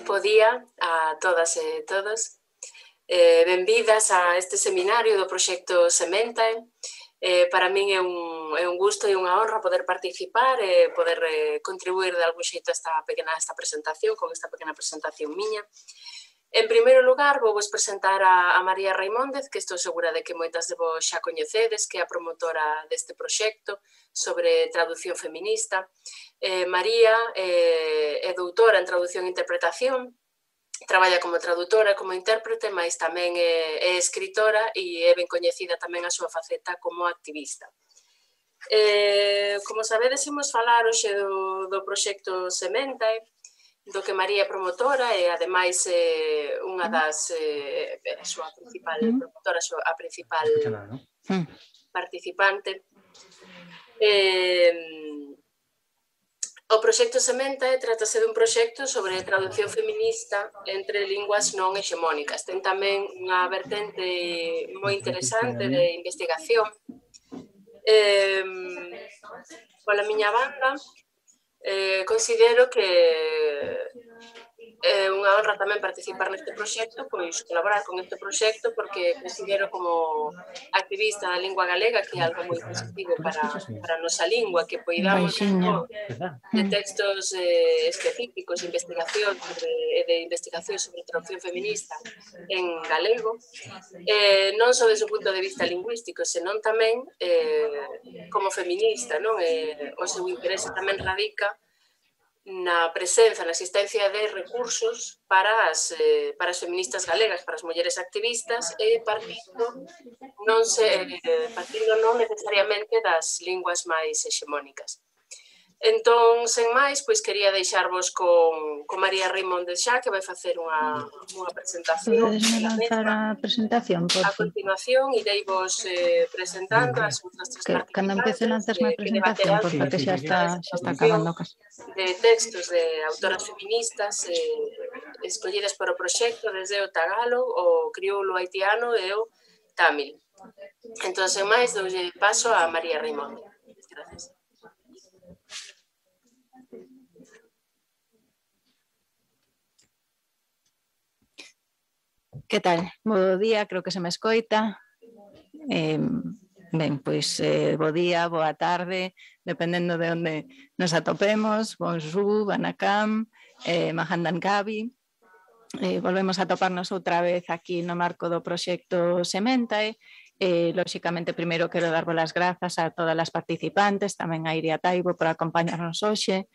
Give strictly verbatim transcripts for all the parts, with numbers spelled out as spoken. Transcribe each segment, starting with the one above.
Bo día a todas e todos. Eh, benvidas a este seminario do proxecto Sementae. Eh, para min é un, é un gusto e unha honra poder participar e poder eh, contribuir de algún xeito a esta pequena esta presentación, con esta pequena presentación miña. En primeiro lugar, vou vos presentar a, a María Raimóndez, que estou segura de que moitas de vos xa coñecedes, que é a promotora deste proxecto sobre traducción feminista. Eh, María eh, é doutora en traducción e interpretación, traballa como traductora e como intérprete, mas tamén é, é escritora e é ben coñecida tamén a súa faceta como activista. Eh, como sabedes, imos falar hoxe do, do proxecto Sementae, do que María é promotora e, ademais, eh, unha das eh, a súa principal promotora, a, súa, a principal participante. Eh, O proxecto Sementae trátase dun proxecto sobre traducción feminista entre linguas non hexemónicas. Ten tamén unha vertente moi interesante de investigación. Eh, pola miña banda, eh, considero que é unha honra tamén participar neste proxecto, pois colaborar con este proxecto, porque considero como activista da lingua galega que é algo moi positivo para, para a nosa lingua, que poidamos de textos eh, específicos de investigación sobre, de investigación sobre traducción feminista en galego, eh, non só desde o punto de vista lingüístico, senón tamén eh, como feminista, non? Eh, o seu interese tamén radica na presenza, na existencia de recursos para as, eh, para as feministas galegas, para as mulleres activistas, e partindo non, se, eh, partindo non necesariamente das linguas máis hexemónicas. Entón, sen máis, pois quería deixarvos con, con María Raimóndez xa, que vai facer unha, unha presentación. Podes lanzar a presentación, por A continuación, irei vos eh, presentando as outras tres que, participantes cando empece lanzas má presentación, por porque xa está, xa está acabando casi. De textos de autoras feministas eh, escollidas para o proxecto desde o tagalo, o crioulo haitiano e o tamil. Entón, sen máis, doulle paso a María Raimóndez. Gracias. Que tal? Bo día, creo que se me escoita. Eh, ben, pois eh, bo día, boa tarde, dependendo de onde nos atopemos. Bonjour, Banakam, eh, Mahandan Gabi. Eh, volvemos a toparnos outra vez aquí no marco do proxecto Sementae. Eh, lóxicamente, primeiro quero darvos as grazas a todas as participantes, tamén a Iria Taibo por acompañarnos hoxe.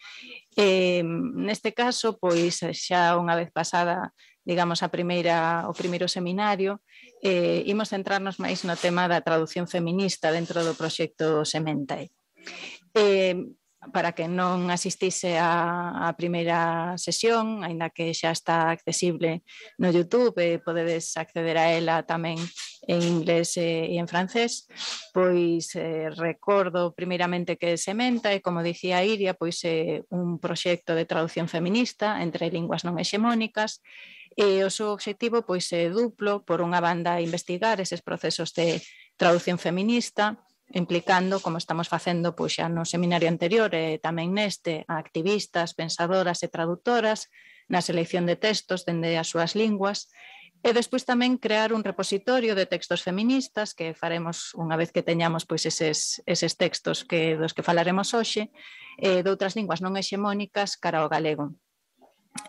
Eh, neste caso, pois xa unha vez pasada, digamos, a primeira, o primeiro seminario, eh, imos centrarnos máis no tema da traducción feminista dentro do proxecto Sementae. Eh, para que non asistise a, a primeira sesión, aínda que xa está accesible no YouTube, eh, podedes acceder a ela tamén en inglés e, e en francés, pois eh, recordo primeiramente que Sementae, como dicía Iria, pois é eh, un proxecto de traducción feminista entre linguas non hexemónicas, e o seu obxectivo pois é duplo. Por unha banda, investigar eses procesos de traducción feminista, implicando, como estamos facendo pois xa no seminario anterior e tamén neste, a activistas, pensadoras e traductoras na selección de textos dende as súas linguas, e despois tamén crear un repositorio de textos feministas que faremos unha vez que teñamos pois eses, eses textos que, dos que falaremos hoxe, e de outras linguas non hexemónicas cara ao galego.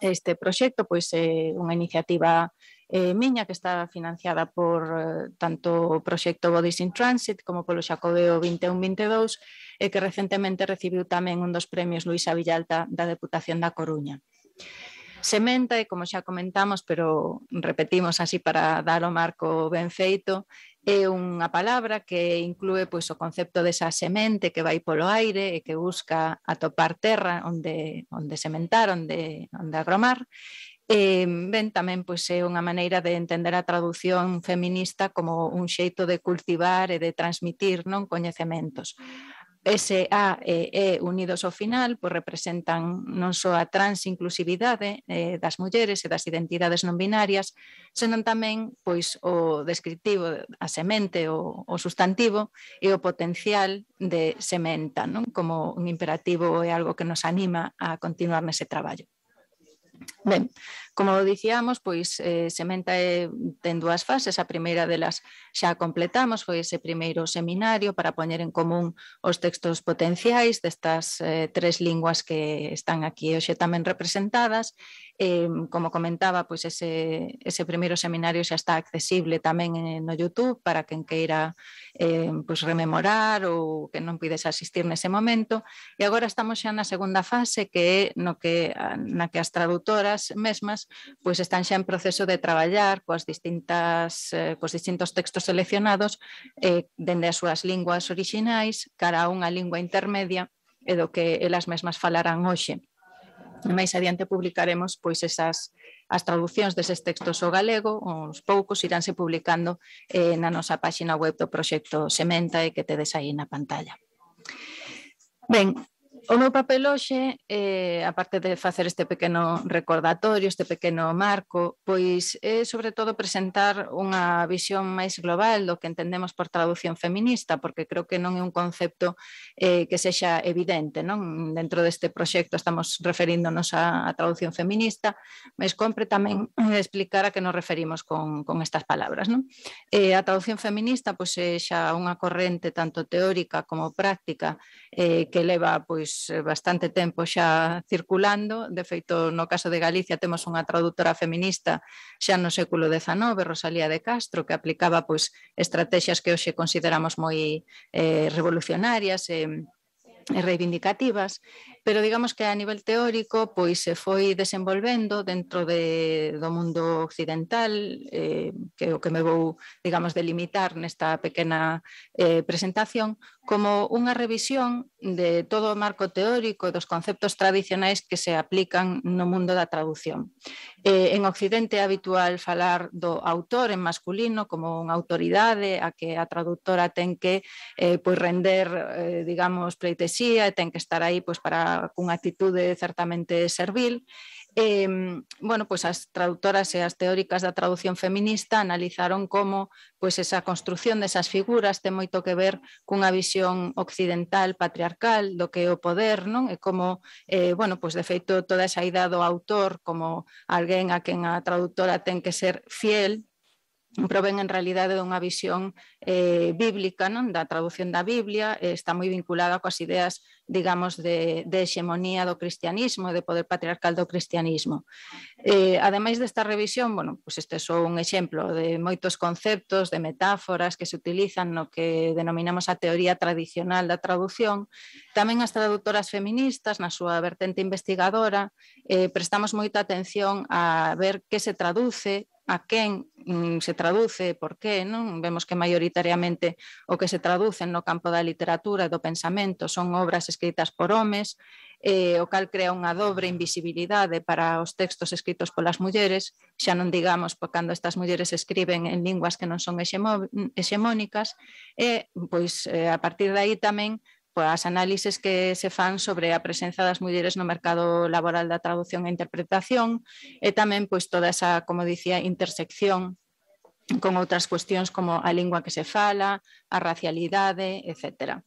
Este proxecto pois é unha iniciativa eh, miña que está financiada por eh, tanto o proxecto Bodies in Transit como polo Xacobeo vinte e un vinte e dous, e que recentemente recibiu tamén un dos premios Luisa Villalta da Deputación da Coruña. Sementae, como xa comentamos, pero repetimos así para dar o marco ben feito, é unha palabra que inclúe pois, o concepto desa semente que vai polo aire e que busca atopar terra onde, onde sementar, onde, onde agromar. E, ben, tamén pois, é unha maneira de entender a traducción feminista como un xeito de cultivar e de transmitir non coñecementos. S, A e E unidos ao final pois representan non só a transinclusividade eh, das mulleres e das identidades non binarias, senón tamén pois o descriptivo, a semente, o, o sustantivo e o potencial de sementa, non? Como un imperativo é algo que nos anima a continuar nese traballo. Ben, como dicíamos, pois eh, sementa é, ten dúas fases, a primeira delas xa completamos, foi ese primeiro seminario para poñer en común os textos potenciais destas eh, tres linguas que están aquí hoxe tamén representadas. Eh, como comentaba, pois ese, ese primeiro seminario xa está accesible tamén no YouTube para quen queira eh, pois rememorar ou que non puides asistir nese momento. E agora estamos xa na segunda fase, que é no que, na que as traductoras mesmas pois están xa en proceso de traballar coas distintas, eh, cos distintos textos seleccionados eh, dende as súas linguas orixinais cara a unha lingua intermedia e do que elas mesmas falarán hoxe. E máis adiante publicaremos pois esas as traducións deses textos ao galego, os poucos iránse publicando eh, na nosa páxina web do proxecto Sementa e que tedes aí na pantalla. Ben, o meu papel hoxe, eh, aparte de facer este pequeno recordatorio, este pequeno marco, pois é sobre todo presentar unha visión máis global do que entendemos por traducción feminista, porque creo que non é un concepto eh, que sexa evidente, non? Dentro deste proxecto estamos referíndonos a, a traducción feminista, mas compre tamén explicar a que nos referimos con, con estas palabras, non? Eh, a traducción feminista pois é xa unha corrente tanto teórica como práctica eh, que leva pois bastante tempo xa circulando. De feito, no caso de Galicia temos unha traductora feminista xa no século dezanove, Rosalía de Castro, que aplicaba pois estrategias que hoxe consideramos moi eh, revolucionarias e eh, e reivindicativas, pero digamos que a nivel teórico pois se foi desenvolvendo dentro de, do mundo occidental, eh, que é o que me vou, digamos, delimitar nesta pequena eh, presentación, como unha revisión de todo o marco teórico e dos conceptos tradicionais que se aplican no mundo da traducción. Eh, en Occidente é habitual falar do autor en masculino como unha autoridade a que a traductora ten que eh, pois render, eh, digamos, pleitesía e ten que estar aí pois, para cunha actitude certamente servil. Eh, bueno, pois as traductoras e as teóricas da traducción feminista analizaron como pois esa construción desas figuras ten moito que ver cunha visión occidental patriarcal do que é o poder, non? E como, eh, bueno, pois de feito toda esa idea do autor como alguén a quen a traductora ten que ser fiel, proven en realidade dunha visión eh, bíblica, non? Da traducción da Biblia, eh, está moi vinculada coas ideas, digamos, de, de hexemonía do cristianismo, de poder patriarcal do cristianismo. Eh, ademais desta revisión, bueno, pues este é só un exemplo de moitos conceptos, de metáforas que se utilizan no que denominamos a teoría tradicional da traducción. Tamén as traductoras feministas, na súa vertente investigadora, eh, prestamos moita atención a ver que se traduce, a quen mm, se traduce, por qué, non? Vemos que maioritariamente o que se traduce no campo da literatura e do pensamento son obras escritas por homes, eh, o cal crea unha dobre invisibilidade para os textos escritos polas mulleres, xa non digamos por cando estas mulleres escriben en linguas que non son hexemónicas, e pois eh, a partir de aí tamén as análises que se fan sobre a presenza das mulleres no mercado laboral da traducción e interpretación e tamén pois toda esa, como dicía, intersección con outras cuestións como a lingua que se fala, a racialidade, etcétera.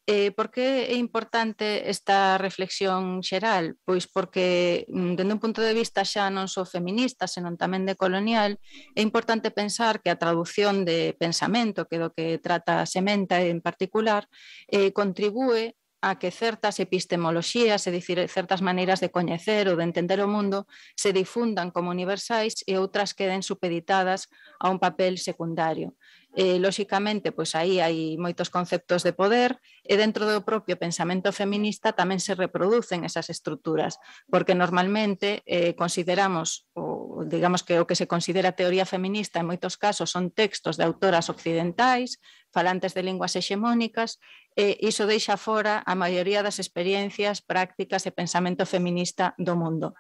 Eh, por que é importante esta reflexión xeral? Pois porque, dende un punto de vista xa non só feminista, senón tamén de colonial, é importante pensar que a traducción de pensamento, que do que trata Sementa en particular, eh, contribúe a que certas epistemoloxías, é dicir, certas maneiras de coñecer ou de entender o mundo, se difundan como universais e outras queden supeditadas a un papel secundario. Eh, lóxicamente, pois aí hai moitos conceptos de poder e dentro do propio pensamento feminista tamén se reproducen esas estruturas, porque normalmente eh, consideramos, ou digamos que o que se considera teoría feminista en moitos casos son textos de autoras occidentais, falantes de linguas hexemónicas, e iso deixa fora a maioría das experiencias, prácticas e pensamento feminista do mundo.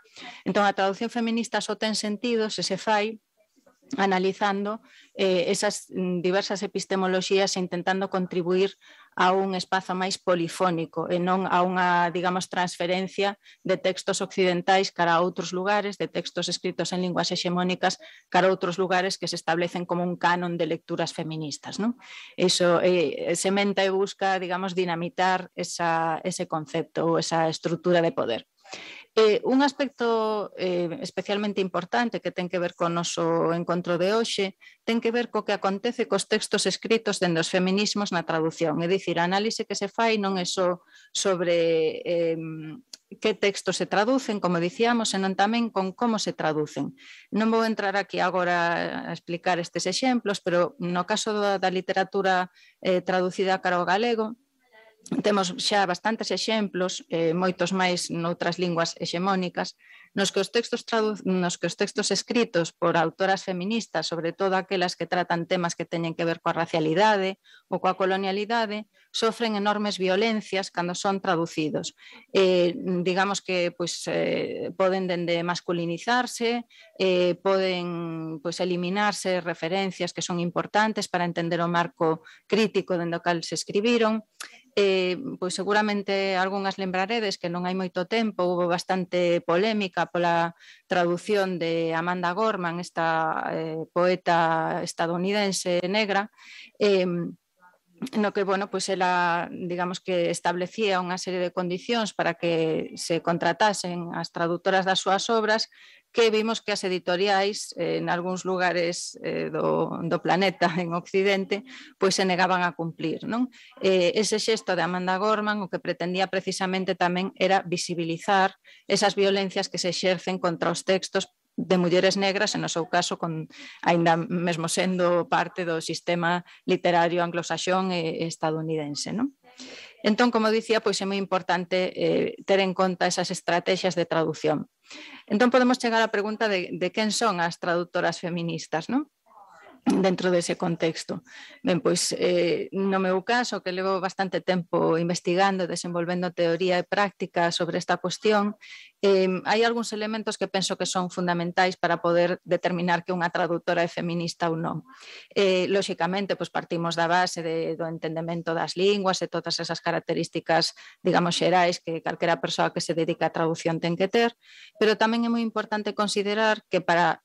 Entón, a traducción feminista só ten sentido se se fai analizando eh, esas diversas epistemoloxías e intentando contribuir a un espazo máis polifónico e non a unha, digamos, transferencia de textos occidentais cara a outros lugares, de textos escritos en linguas hexemónicas cara a outros lugares que se establecen como un canon de lecturas feministas, non? Iso eh, sementa e busca, digamos, dinamitar esa, ese concepto ou esa estrutura de poder. Eh, un aspecto eh, especialmente importante que ten que ver co noso encontro de hoxe ten que ver co que acontece cos textos escritos dende os feminismos na traducción, é dicir, a análise que se fai non é só sobre eh, que textos se traducen, como dicíamos, senón tamén con como se traducen. Non vou entrar aquí agora a explicar estes exemplos, pero no caso da, da literatura eh, traducida cara ao galego, temos xa bastantes exemplos, eh, moitos máis noutras linguas hexemónicas, nos que, os textos nos que os textos escritos por autoras feministas, sobre todo aquelas que tratan temas que teñen que ver coa racialidade ou coa colonialidade, sofren enormes violencias cando son traducidos. Eh, digamos que pois, eh, poden dende masculinizarse, eh, poden pois, eliminarse referencias que son importantes para entender o marco crítico dende o cal se escribiron. Eh, pois seguramente algunhas lembraredes que non hai moito tempo, houve bastante polémica pola traducción de Amanda Gorman, esta eh, poeta estadounidense negra, eh, no que, bueno, pues ela, digamos que establecía unha serie de condicións para que se contratasen as traductoras das súas obras, que vimos que as editoriais eh, en algúns lugares eh, do, do planeta en Occidente pois se negaban a cumplir, non? Eh, ese xesto de Amanda Gorman o que pretendía precisamente tamén era visibilizar esas violencias que se exercen contra os textos de mulleres negras, en o seu caso, con, ainda mesmo sendo parte do sistema literario anglosaxón e estadounidense, non? Entón, como dicía, pois é moi importante eh, ter en conta esas estrategias de traducción. Entón, podemos chegar á pregunta de, de quen son as traductoras feministas, non? Dentro dese contexto. Ben, pois, eh, no meu caso, que levo bastante tempo investigando, desenvolvendo teoría e práctica sobre esta cuestión, eh, hai algúns elementos que penso que son fundamentais para poder determinar que unha traductora é feminista ou non. Eh, lóxicamente, pois, partimos da base de, do entendemento das linguas e todas esas características, digamos, xerais que calquera persoa que se dedica á traducción ten que ter, pero tamén é moi importante considerar que para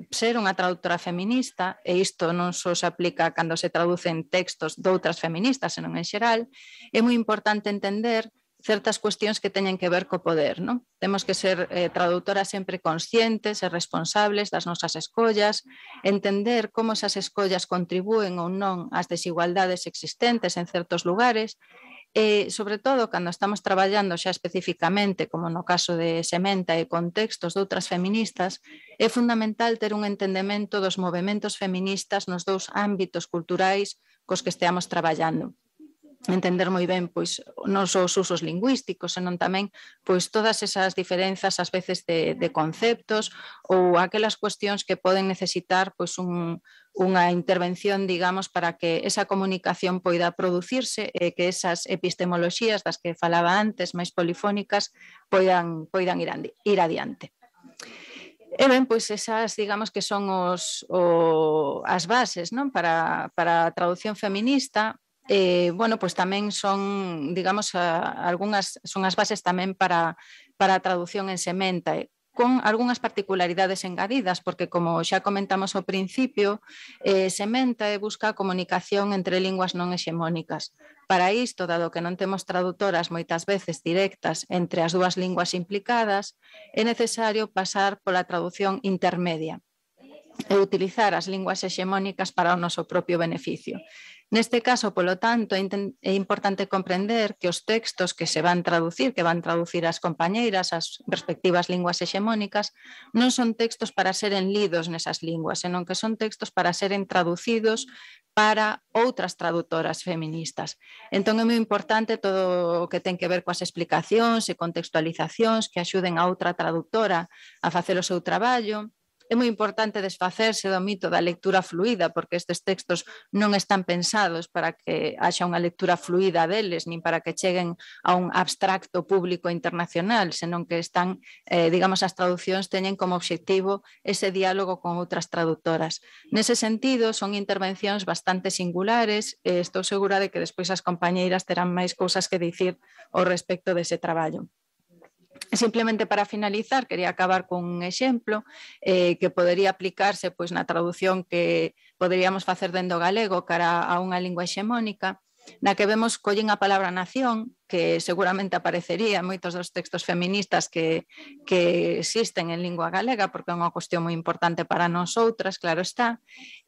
ser unha traductora feminista, e isto non só se aplica cando se traducen textos de outras feministas, senón en xeral, é moi importante entender certas cuestións que teñen que ver co poder, non? Temos que ser eh, traductoras sempre conscientes e responsables das nosas escollas, entender como esas escollas contribúen ou non ás desigualdades existentes en certos lugares, e, sobre todo, cando estamos traballando xa especificamente, como no caso de Sementa e contextos de outras feministas, é fundamental ter un entendemento dos movementos feministas nos dous ámbitos culturais cos que esteamos traballando. Entender moi ben pois non só os usos lingüísticos, senón tamén pois todas esas diferenzas ás veces de, de conceptos ou aquelas cuestións que poden necesitar pois un, unha intervención, digamos, para que esa comunicación poida producirse e que esas epistemoloxías das que falaba antes, máis polifónicas, poidan, poidan ir, andi, ir adiante. E ben, pois esas, digamos, que son os, o, as bases, non? Para, para a traducción feminista. Eh, bueno, pois tamén son, digamos, a, algunhas, son as bases tamén para, para a traducción en Sementa, con algunhas particularidades engadidas, porque, como xa comentamos ao principio, eh, Sementa busca a comunicación entre linguas non hexemónicas. Para isto, dado que non temos traductoras moitas veces directas entre as dúas linguas implicadas, é necesario pasar pola traducción intermedia e utilizar as linguas hexemónicas para o noso propio beneficio. Neste caso, polo tanto, é importante comprender que os textos que se van traducir, que van traducir as compañeiras, as respectivas linguas hexemónicas, non son textos para seren lidos nesas linguas, senón que son textos para seren traducidos para outras traductoras feministas. Entón é moi importante todo o que ten que ver coas explicacións e contextualizacións que axuden a outra traductora a facer o seu traballo, É moi importante desfacerse do mito da lectura fluida, porque estes textos non están pensados para que haxa unha lectura fluida deles, nin para que cheguen a un abstracto público internacional, senón que están, eh, digamos, as traduccións teñen como obxectivo ese diálogo con outras traductoras. Nese sentido, son intervencións bastante singulares e estou segura de que despois as compañeiras terán máis cousas que dicir ao respecto dese traballo. Simplemente para finalizar, quería acabar con un exemplo eh, que podería aplicarse pois, na traducción que poderíamos facer dentro galego cara a unha lingua hexemónica, na que vemos collen a palabra nación, que seguramente aparecería en moitos dos textos feministas que, que existen en lingua galega, porque é unha cuestión moi importante para nós outras, claro está,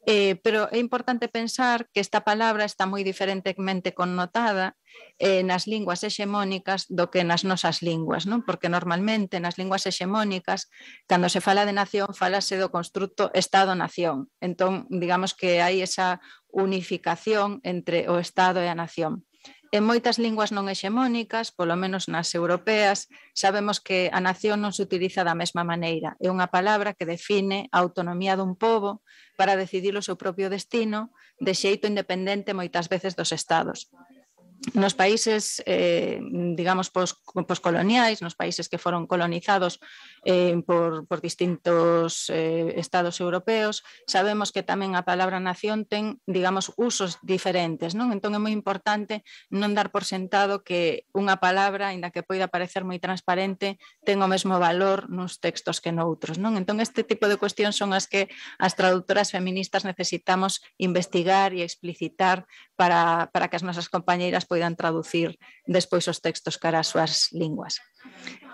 eh, pero é importante pensar que esta palabra está moi diferentemente connotada eh, nas linguas hexemónicas do que nas nosas linguas, non? Porque normalmente nas linguas hexemónicas, cando se fala de nación, falase do construto Estado-nación. Entón, digamos que hai esa unificación entre o Estado e a nación. En moitas linguas non hexemónicas, polo menos nas europeas, sabemos que a nación non se utiliza da mesma maneira. É unha palabra que define a autonomía dun pobo para decidir o seu propio destino de xeito independente moitas veces dos estados. Nos países, eh, digamos, pos, poscoloniais, nos países que foron colonizados eh, por, por distintos eh, estados europeos, sabemos que tamén a palabra nación ten, digamos, usos diferentes, non? Entón é moi importante non dar por sentado que unha palabra, aínda que poida parecer moi transparente, ten o mesmo valor nos textos que noutros, non? Entón este tipo de cuestións son as que as traductoras feministas necesitamos investigar e explicitar para, para que as nosas compañeiras poidan traducir despois os textos cara as súas linguas.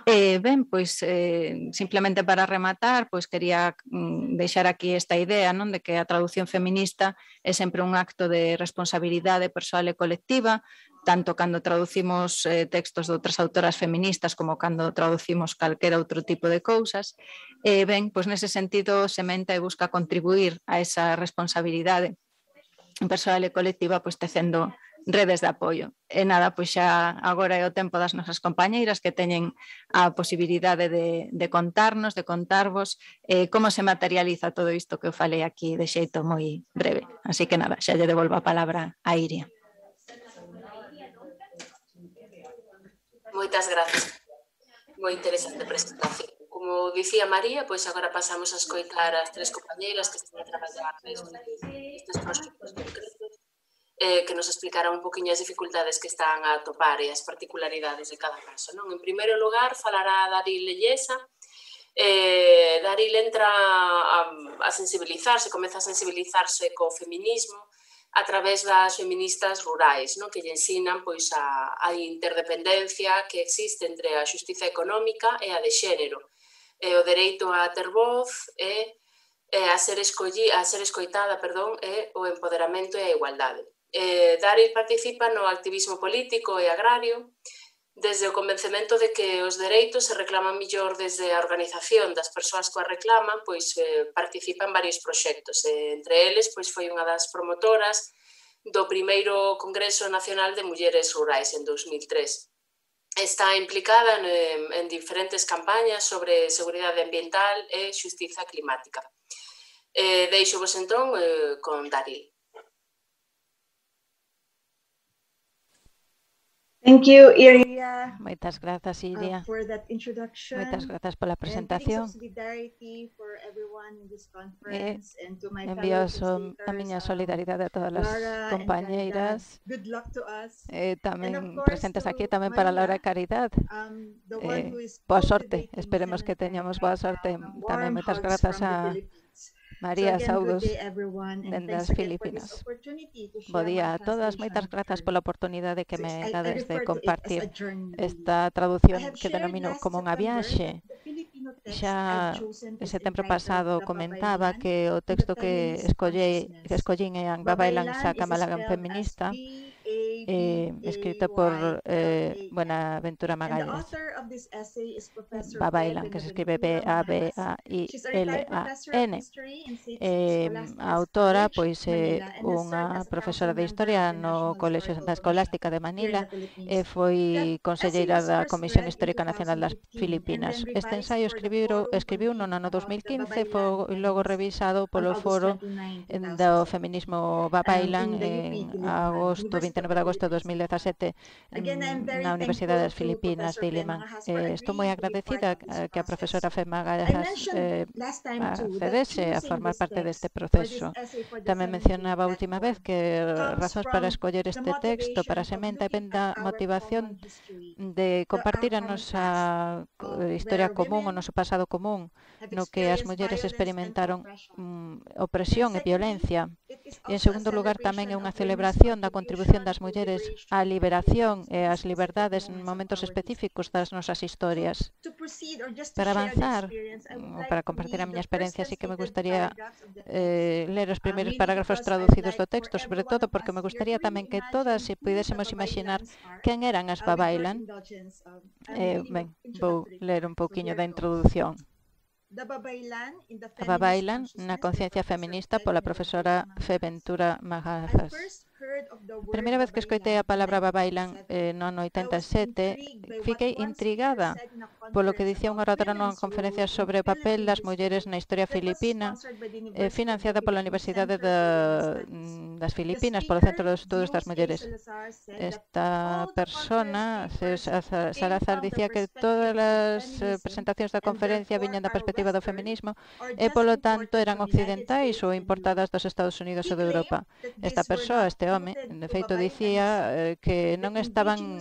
Eh, ben, pois eh, simplemente para rematar, pois quería mm, deixar aquí esta idea, non, de que a traducción feminista é sempre un acto de responsabilidade persoal e colectiva, tanto cando traducimos eh, textos de outras autoras feministas como cando traducimos calquera outro tipo de cousas. Eh, ben, pois nese sentido, Sementa e busca contribuir a esa responsabilidade persoal e colectiva, pois tecendo redes de apoio. E nada, pois xa agora é o tempo das nosas compañeiras que teñen a posibilidade de, de contarnos, de contarvos eh, como se materializa todo isto que eu falei aquí de xeito moi breve. Así que nada, xa lle devolvo a palabra a Iria. Moitas grazas. Moi interesante presentación. Como dicía María, pois agora pasamos a escoitar as tres compañeiras que están a traballar nestes proxectos concretos eh, que nos explicarán un poquinho as dificultades que están a atopar e as particularidades de cada caso, non? En primeiro lugar, falará Daril Lellesa. Eh, Daril entra a, a sensibilizarse, comeza a sensibilizarse co feminismo a través das feministas rurais, non? Que lle ensinan pois, a, a interdependencia que existe entre a xustiza económica e a de xénero, e o dereito a ter voz e, e a, ser escolli, a ser escoitada perdón, e o empoderamento e a igualdade. Eh, Daril participa no activismo político e agrario desde o convencemento de que os dereitos se reclaman millor desde a organización das persoas que a reclaman, pois eh, participa en varios proxectos. Eh, entre eles, pois foi unha das promotoras do primeiro Congreso Nacional de Mulleres Rurais en dos mil tres. Está implicada en, en diferentes campañas sobre seguridade ambiental e xustiza climática. Eh, deixo vos entón eh, con Daril. Thank you, Iria. Moitas grazas, Iria. Uh, for that introduction. Moitas grazas pola presentación. E envío a miña solidaridade a todas as compañeiras. Good luck to us. Eh, tamén presentes aquí tamén para Laura e Caridad. Um, eh, boa sorte, esperemos que teñamos boa sorte. Tamén moitas grazas a María, so saudos dende as Filipinas. Bo día a todas, moitas grazas pola oportunidade que me dades de compartir esta traducción que denomino como unha viaxe. Xa en setembro pasado comentaba que o texto que escollei, que escollín é Ang Babaylan sa Kamalagan Feminista, eh, escrito por eh, Buenaventura Magalhães. Babailan, que se escribe B A B A I L A N. Eh, a autora, pois, é eh, unha profesora de Historia no Colexio Santa Escolástica de Manila e foi conselleira da Comisión Histórica Nacional das Filipinas. Este ensaio escribiu, escribiu no ano dos mil quince e foi logo revisado polo Foro do Feminismo Babailan en agosto, vinte e nove de agosto de dos mil dezasete na Universidade das Filipinas de Iliman. Eh, estou moi agradecida que a profesora Fe Magalhães eh, accedese a formar parte deste proceso. Tamén mencionaba a última vez que razóns para escoller este texto para a sementa ven da motivación de compartir a nosa historia común, o noso pasado común, no que as mulleres experimentaron um, opresión e violencia. E, en segundo lugar, tamén é unha celebración da contribución das mulleres á liberación e ás liberdades en momentos específicos das nosas historias. Para avanzar, ou para compartir a miña experiencia, sí que me gustaría eh, ler os primeiros parágrafos traducidos do texto, sobre todo porque me gustaría tamén que todas se pudésemos imaginar quen eran as Babailan. Eh, ben, vou ler un pouquiño da introdución. A Babailan na conciencia feminista pola profesora Buenaventura Magalhães. A primeira vez que escoitei a palabra Babailan eh, no ano oitenta e sete, fiquei intrigada polo que dicía unha oradora nunha conferencia sobre o papel das mulleres na historia filipina, eh, financiada pola Universidade de, das Filipinas, polo Centro de Estudos das Mulleres. Esta persona, Salazar, dicía que todas as presentacións da conferencia viñan da perspectiva do feminismo e, polo tanto, eran occidentais ou importadas dos Estados Unidos ou de Europa. Esta persoa, este home, de feito, dicía eh, que non estaban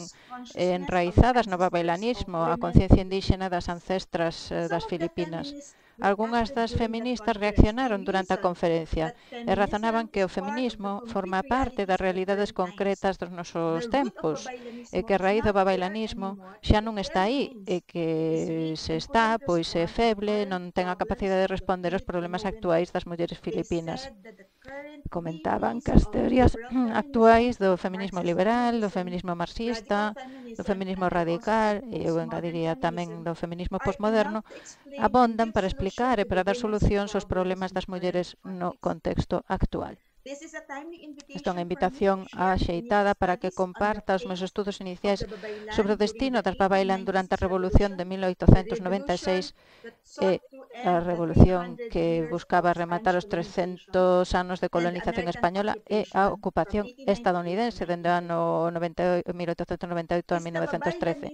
eh, enraizadas no babailanismo, a conciencia indígena das ancestras eh, das Filipinas. Algúnas das feministas reaccionaron durante a conferencia e razonaban que o feminismo forma parte das realidades concretas dos nosos tempos e que a raíz do babailanismo xa non está aí e que se está, pois é feble, non ten a capacidade de responder aos problemas actuais das mulleres filipinas. Comentaban que as teorías actuais do feminismo liberal, do feminismo marxista, do feminismo radical e eu engadiría tamén do feminismo posmoderno abondan para explicar e para dar solucións aos problemas das mulleres no contexto actual. Esta é unha invitación axeitada para que comparta os meus estudos iniciais sobre o destino das Babailan durante a Revolución de mil oitocentos noventa e seis e a revolución que buscaba rematar os trescentos anos de colonización española e a ocupación estadounidense dende o ano mil oitocentos noventa e oito a mil novecentos trece.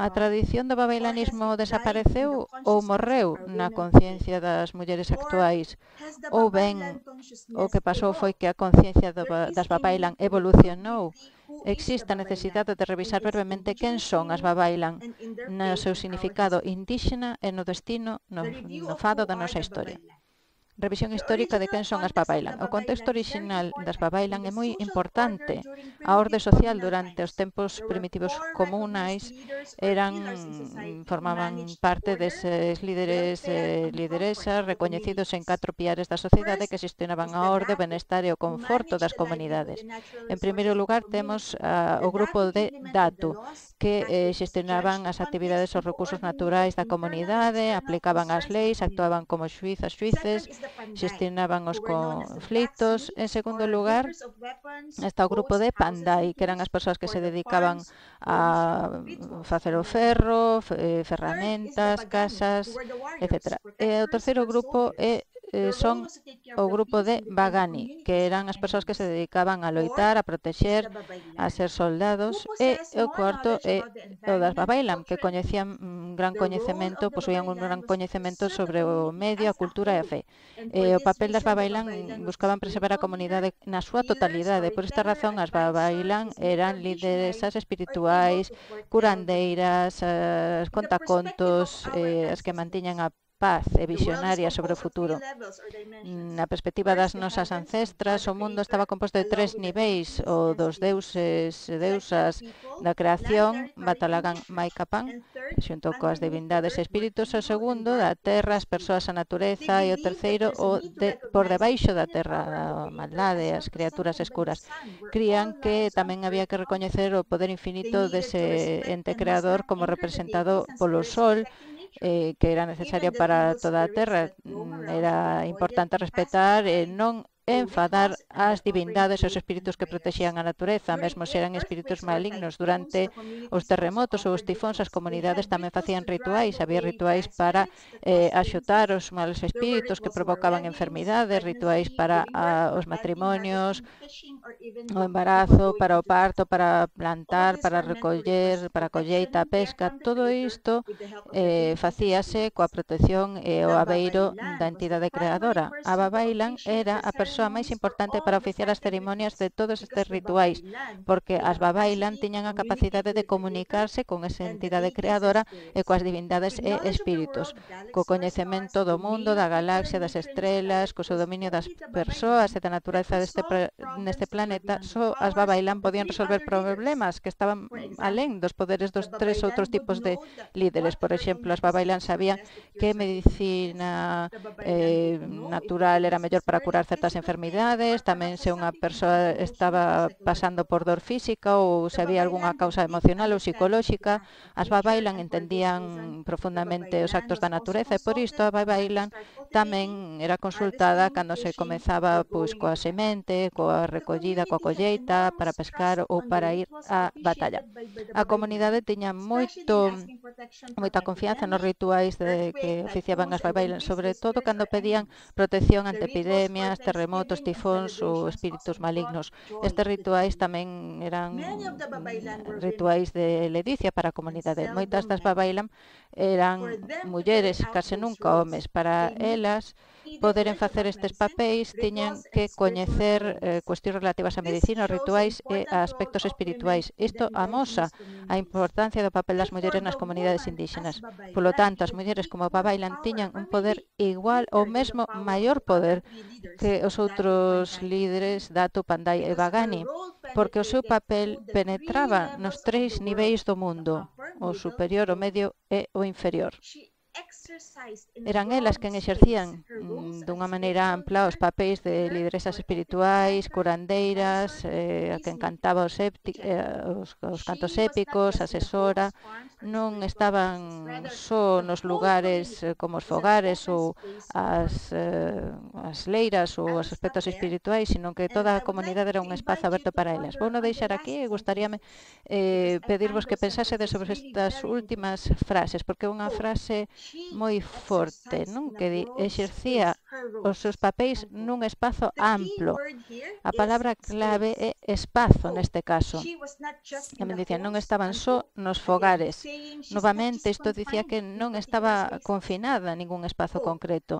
A tradición do babailanismo desapareceu ou morreu na conciencia das mulleres actuais, ou ben o que pasou foi que a conciencia das Babailan evolucionou. Existe a necesidade de revisar brevemente quen son as Babailan no seu significado indígena e no destino, no, no fado da nosa historia. Revisión histórica de quen son as Babailan. O contexto original das Babailan é moi importante. A orde social durante os tempos primitivos comunais eran, formaban parte deses líderes e lideresas recoñecidos en catro piares da sociedade que xestionaban a orde, o benestar e o conforto das comunidades. En primeiro lugar, temos uh, o grupo de Datu, que eh, xestionaban as actividades e os recursos naturais da comunidade, aplicaban as leis, actuaban como xuízas, xuíces, xestionaban os conflitos. En segundo lugar, está o grupo de Panday, que eran as persoas que se dedicaban a facer o ferro, ferramentas, casas, etcétera. E o terceiro grupo é Eh, son o grupo de Bagani, que eran as persoas que se dedicaban a loitar, a protexer, a ser soldados, e o cuarto é o das Babailan, que coñecían un gran coñecemento, posuían un gran coñecemento sobre o medio, a cultura e a fe. E o papel das Babailan buscaban preservar a comunidade na súa totalidade. Por esta razón, as Babailan eran lideresas espirituais, curandeiras, as contacontos, eh, as que mantiñan a paz e visionaria sobre o futuro. Na perspectiva das nosas ancestras, o mundo estaba composto de tres niveis, o dos deuses e deusas da creación, Batalagan Maikapan, xunto coas divindades e espíritus, o segundo, da terra, as persoas, a natureza, e o terceiro, o de, por debaixo da terra, a maldade, as criaturas escuras. Crían que tamén había que recoñecer o poder infinito dese ente creador como representado polo sol, eh, que era necesaria para toda a terra. Era importante respetar e non enfadar as divindades e os espíritus que protexían a natureza, mesmo se eran espíritus malignos. Durante os terremotos ou os tifóns, as comunidades tamén facían rituais. Había rituais para eh, axutar os malos espíritus que provocaban enfermidades, rituais para a, os matrimonios, o embarazo, para o parto, para plantar, para recoller, para a colleita, a pesca. Todo isto eh, facíase coa protección e o abeiro da entidade creadora. A Babailan era a persoa a máis importante para oficiar as cerimonias de todos estes rituais, porque as Babailan tiñan a capacidade de comunicarse con esa entidade creadora e coas divindades e espíritus, co coñecemento do mundo, da galaxia, das estrelas, co seu dominio das persoas e da natureza deste neste planeta. Só as Babailan podían resolver problemas que estaban alén dos poderes dos tres outros tipos de líderes. Por exemplo, as Babailan sabían que medicina eh, natural era mellor para curar certas enfermedades, enfermidades, tamén se unha persoa estaba pasando por dor física ou se había algunha causa emocional ou psicolóxica. As Babailan entendían profundamente os actos da natureza e por isto a Babailan tamén era consultada cando se comezaba pois coa semente, coa recollida, coa colleita, para pescar ou para ir á batalla. A comunidade tiña moito moita confianza nos rituais de que oficiaban as Babailan, sobre todo cando pedían protección ante epidemias, terremotos, tifóns ou espíritus malignos. Estes rituais tamén eran rituais de ledicia para a comunidade. Moitas das Babailan eran mulleres, case nunca homes. Para elas, poderen facer estes papéis, tiñan que coñecer eh, cuestións relativas a medicina, rituais e a aspectos espirituais. Isto amosa a importancia do papel das mulleres nas comunidades indígenas. Polo tanto, as mulleres como Babailan tiñan un poder igual ou mesmo maior poder que os outros líderes Datu, Pandai e Bagani, porque o seu papel penetraba nos tres niveis do mundo, o superior, o medio e o inferior. Eran elas quen exercían dunha maneira ampla os papéis de lideresas espirituais, curandeiras, eh, a quen cantaba os, épti, eh, os, os cantos épicos, asesora. Non estaban só nos lugares eh, como os fogares ou as, eh, as leiras ou os aspectos espirituais, sino que toda a comunidade era un espazo aberto para elas. Vou non deixar aquí e gustaríame eh, pedirvos que pensásedes sobre estas últimas frases, porque é unha frase moi forte, non? Que di, exercía os seus papéis nun espazo amplo. A palabra clave é espazo neste caso. A me dicía, non estaban só nos fogares. Novamente, isto dicía que non estaba confinada a ningún espazo concreto.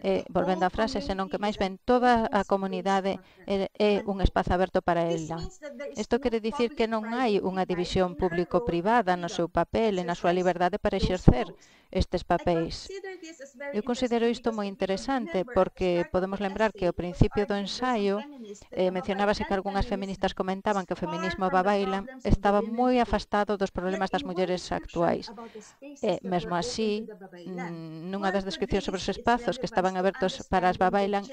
E, volvendo á frase, senón que máis ben toda a comunidade é, é un espazo aberto para ela. Isto quere dicir que non hai unha división público-privada no seu papel e na súa liberdade para exercer estes papéis. Eu considero isto moi interesante porque podemos lembrar que ao principio do ensaio eh, mencionábase que algunhas feministas comentaban que o feminismo Babailan estaba moi afastado dos problemas das mulleres actuais. E, mesmo así, nunha das descripcións sobre os espazos que estaban abertos para as Babailan,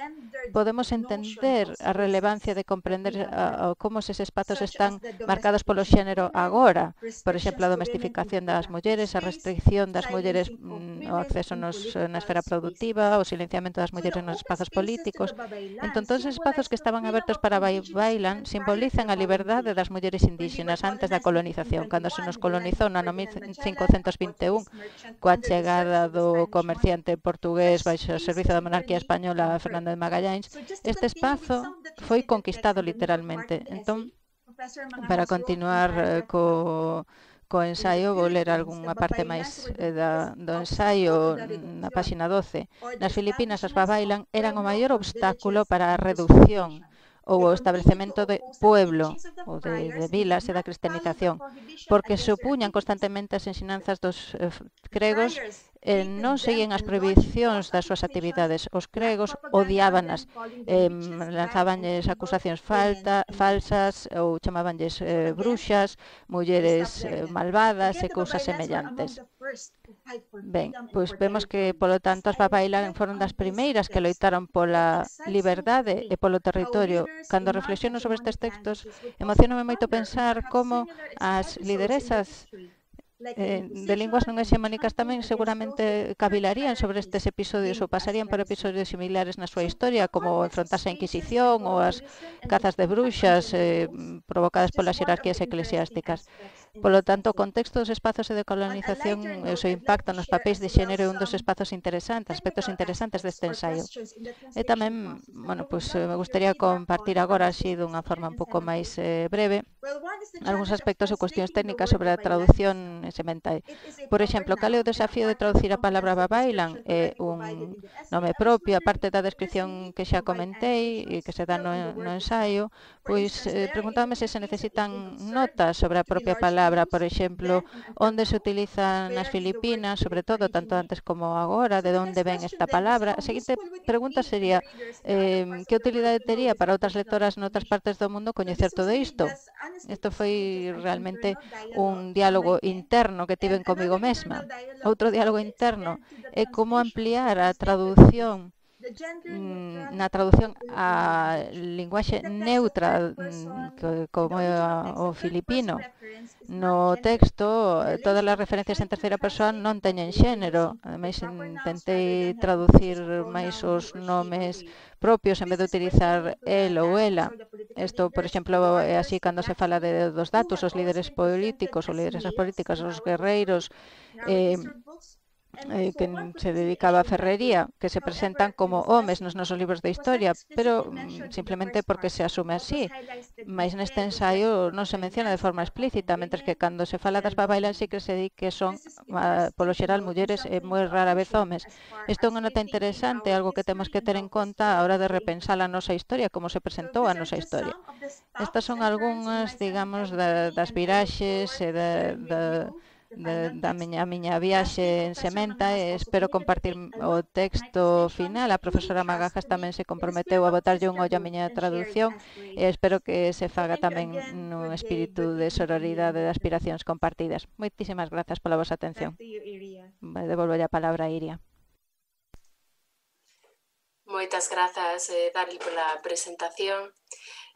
podemos entender a relevancia de comprender a, a, como eses espazos están marcados polo xénero agora. Por exemplo, a domestificación das mulleres, a restricción das mulleres, mm, o acceso nos, na esfera productiva, o silenciamento das mulleres nos espazos políticos. Entón, todos os espazos que estaban abertos para Babailan simbolizan a liberdade das mulleres indígenas antes da colonización. Cando se nos colonizou no ano mil cincocentos vinte e un, coa chegada do comerciante portugués baixo o servizo da monarquía española Fernando de Magallanes, este espazo foi conquistado literalmente. Entón, para continuar eh, co co ensaio, vou ler algunha parte máis eh, da, do ensaio na páxina doce. Nas Filipinas, as Babailan eran o maior obstáculo para a reducción ou o establecemento de pueblo ou de, de vilas e da cristianización, porque se opuñan constantemente as ensinanzas dos eh, gregos e non seguían as prohibicións das súas actividades. Os gregos odiábanas, eh, lanzabanlles acusacións falta, falsas ou chamabanlles eh, bruxas, mulleres eh, malvadas e cousas semellantes. Ben, pois vemos que, polo tanto, as Baba Island foron das primeiras que loitaron pola liberdade e polo territorio. Cando reflexiono sobre estes textos, emocioname moito pensar como as lideresas Eh, de linguas non hexemónicas tamén seguramente cavilarían sobre estes episodios ou pasarían por episodios similares na súa historia, como enfrontarse a Inquisición ou as cazas de bruxas eh, provocadas polas xerarquías eclesiásticas. Polo tanto, o contexto dos espazos de colonización e o seu impacto nos papéis de xénero é un dos espazos interesantes, aspectos interesantes deste ensaio. E tamén, bueno, pues, me gustaría compartir agora, así, dunha forma un pouco máis eh, breve, algúns aspectos ou cuestións técnicas sobre a traducción semental. Por exemplo, cal é o desafío de traducir a palabra Baba Island? É un nome propio, aparte da descripción que xa comentei e que se dá no, no ensaio, pois eh, preguntábame se se necesitan notas sobre a propia palabra, por exemplo, onde se utiliza nas Filipinas, sobre todo, tanto antes como agora, de onde ven esta palabra. A seguinte pregunta sería, eh, que utilidade tería para outras lectoras noutras partes do mundo coñecer todo isto? Isto foi realmente un diálogo interno que tiven comigo mesma. Outro diálogo interno é como ampliar a traducción na traducción a linguaxe neutra como o filipino. No texto, todas as referencias en terceira persoa non teñen xénero. Ademais, intentei traducir máis os nomes propios en vez de utilizar el ou ela. Isto, por exemplo, é así cando se fala de dos datos, os líderes políticos, os líderes políticas, os guerreiros, eh, Eh, que se dedicaba a ferrería, que se presentan como homes nos nosos libros de historia, pero mm, simplemente porque se asume así. Mais neste ensaio non se menciona de forma explícita, mentres que cando se fala das Baba Island sí que se di que son, uh, polo xeral, mulleres e moi rara vez homes. Isto é unha nota interesante, algo que temos que ter en conta a hora de repensar a nosa historia, como se presentou a nosa historia. Estas son algunhas, digamos, da, das viraxes e da, da De, da miña, a miña viaxe en Sementa e espero compartir o texto final. A profesora Magajas tamén se comprometeu a botarlle un ollo a miña traducción e espero que se faga tamén nun espírito de sororidade e de aspiracións compartidas. Moitísimas grazas pola vosa atención. Devolvo a palabra a Iria. Moitas grazas, eh, Darli, pola presentación.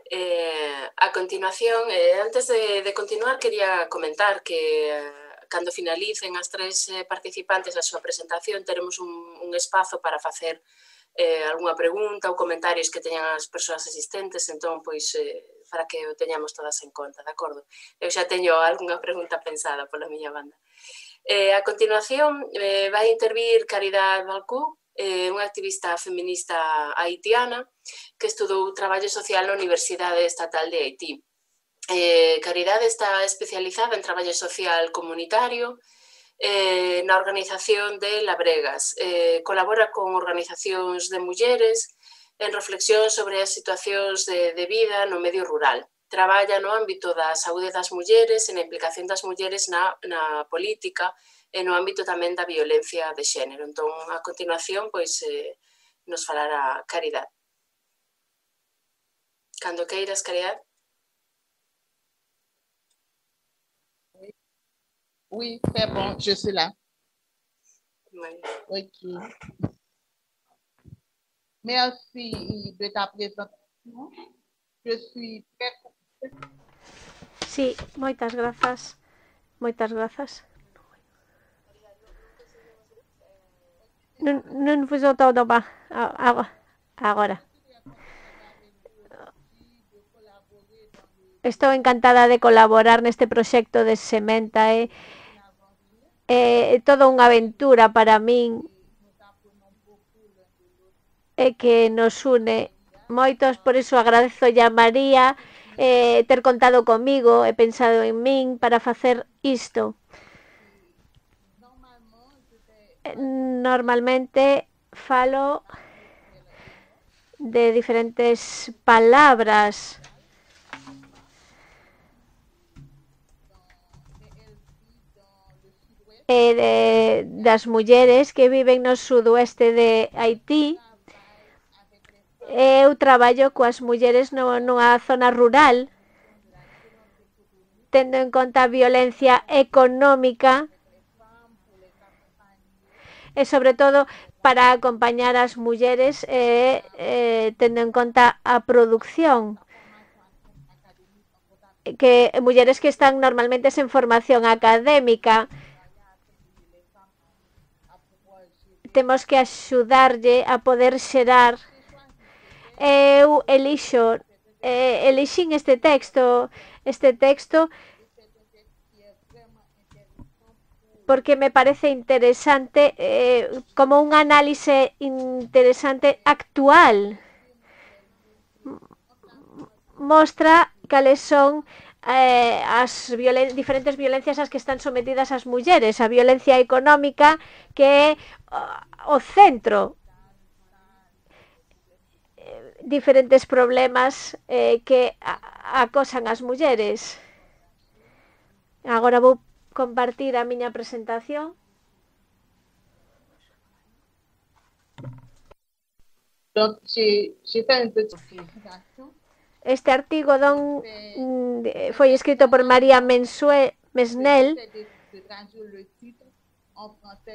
Eh, a continuación, eh, antes de, de continuar, quería comentar que eh, cando finalicen as tres eh, participantes a súa presentación, teremos un, un espazo para facer eh, algunha pregunta ou comentarios que teñan as persoas asistentes, entón, pois, eh, para que o teñamos todas en conta, de acordo? Eu xa teño algunha pregunta pensada pola miña banda. Eh, a continuación, eh, vai intervir Caridad Balcú, eh, unha activista feminista haitiana que estudou traballo social na Universidade Estatal de Haití. Eh, Caridade está especializada en traballo social comunitario eh, na organización de Labregas. Eh, colabora con organizacións de mulleres en reflexión sobre as situacións de, de vida no medio rural. Traballa no ámbito da saúde das mulleres e na implicación das mulleres na, na política e no ámbito tamén da violencia de xénero. Entón, a continuación, pois, eh, nos falará Caridade. Cando queiras, Caridade. Oui, c'est bon, je suis là. Oui. Ok. Merci de ta présentation. Je suis très contente. Sí, moitas grazas. Moitas grazas. Non, non fui todo ba. Agora. Estou encantada de colaborar neste proxecto de Sementa. É eh, eh, toda unha aventura para min e que nos une moitos, por iso agradezo a María eh, ter contado comigo e pensado en min para facer isto. Normalmente falo de diferentes palabras e de, das mulleres que viven no sudoeste de Haití. Eu traballo coas mulleres no, nunha zona rural, tendo en conta a violencia económica e, sobre todo, para acompañar as mulleres e eh, tendo en conta a produción, que mulleres que están normalmente sen formación académica. Temos que axudarlle a poder xerar. Eu elixo, eh, elixín este texto, este texto porque me parece interesante, eh, como un análise interesante actual. Mostra cales son eh, as violen diferentes violencias ás que están sometidas as mulleres. A violencia económica, que é o centro, diferentes problemas eh, que acosan as mulleres. Agora vou compartir a miña presentación. Este artigo don, foi escrito por María Mensue, Mesnel.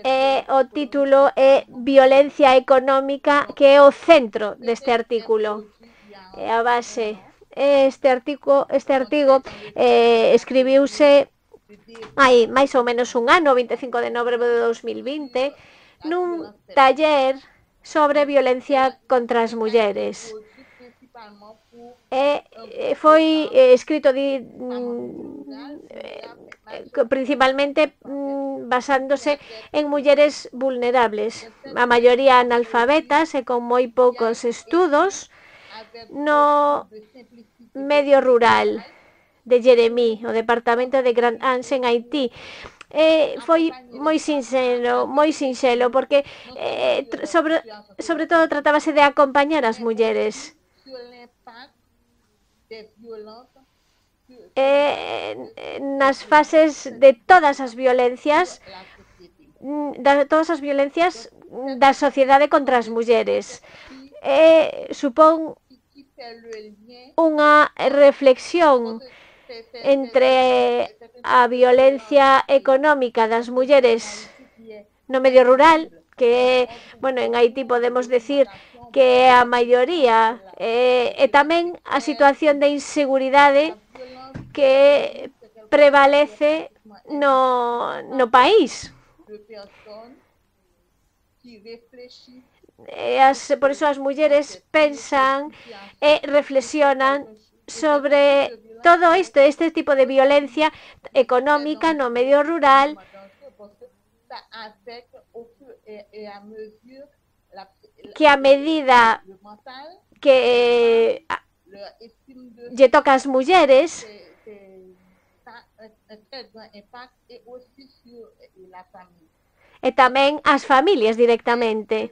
E o título é Violencia Económica, que é o centro deste artículo. É a base. Este artigo, este artigo eh, escribiuse hai máis ou menos un ano, vinte e cinco de novembro de dos mil vinte, nun taller sobre violencia contra as mulleres. E foi escrito di, principalmente basándose en mulleres vulnerables, a maioría analfabetas e con moi poucos estudos, no medio rural de Jeremie, o departamento de Grand Anse en Haití. Eh, foi moi sinxelo, moi sinxelo, porque eh, sobre, sobre todo tratábase de acompañar as mulleres. Eh, nas fases de todas as violencias, de todas as violencias da sociedade contra as mulleres. Eh, supón unha reflexión entre a violencia económica das mulleres no medio rural, que, bueno, en Haití podemos decir que a maioría, eh, e tamén a situación de inseguridade que prevalece no, no país. E as, por iso as mulleres pensan e reflexionan sobre todo isto, este tipo de violencia económica no medio rural, que a medida que lle toca ás mulleres e tamén as familias directamente.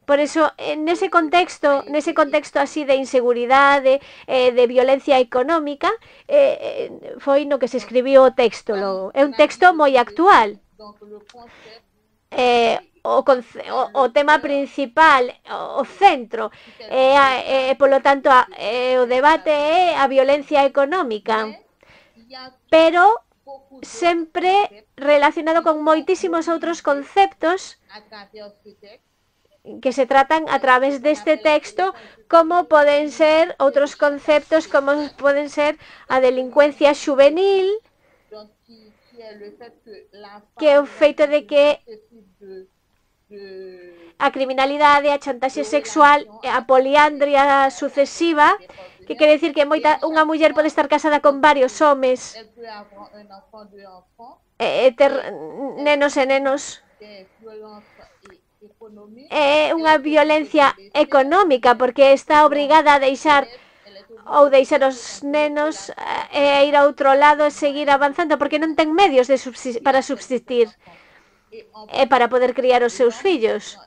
Por iso, nese contexto, nese contexto así de inseguridade, eh, de violencia económica, eh, foi no que se escribiu o texto. Logo. É un texto moi actual. Eh, o, o, o tema principal, o, o centro, e, eh, polo tanto, a, eh, o debate é a violencia económica. Pero sempre relacionado con moitísimos outros conceptos que se tratan a través deste texto, como poden ser outros conceptos, como poden ser a delincuencia xuvenil, que é o feito de que a criminalidade, a chantaxe sexual, a poliandria sucesiva, que quere dicir que moita, unha muller pode estar casada con varios homes, e ter nenos e nenos. É unha violencia económica, porque está obrigada a deixar ou deixar os nenos e ir a outro lado e seguir avanzando, porque non ten medios de subsistir, para subsistir e para poder criar os seus fillos.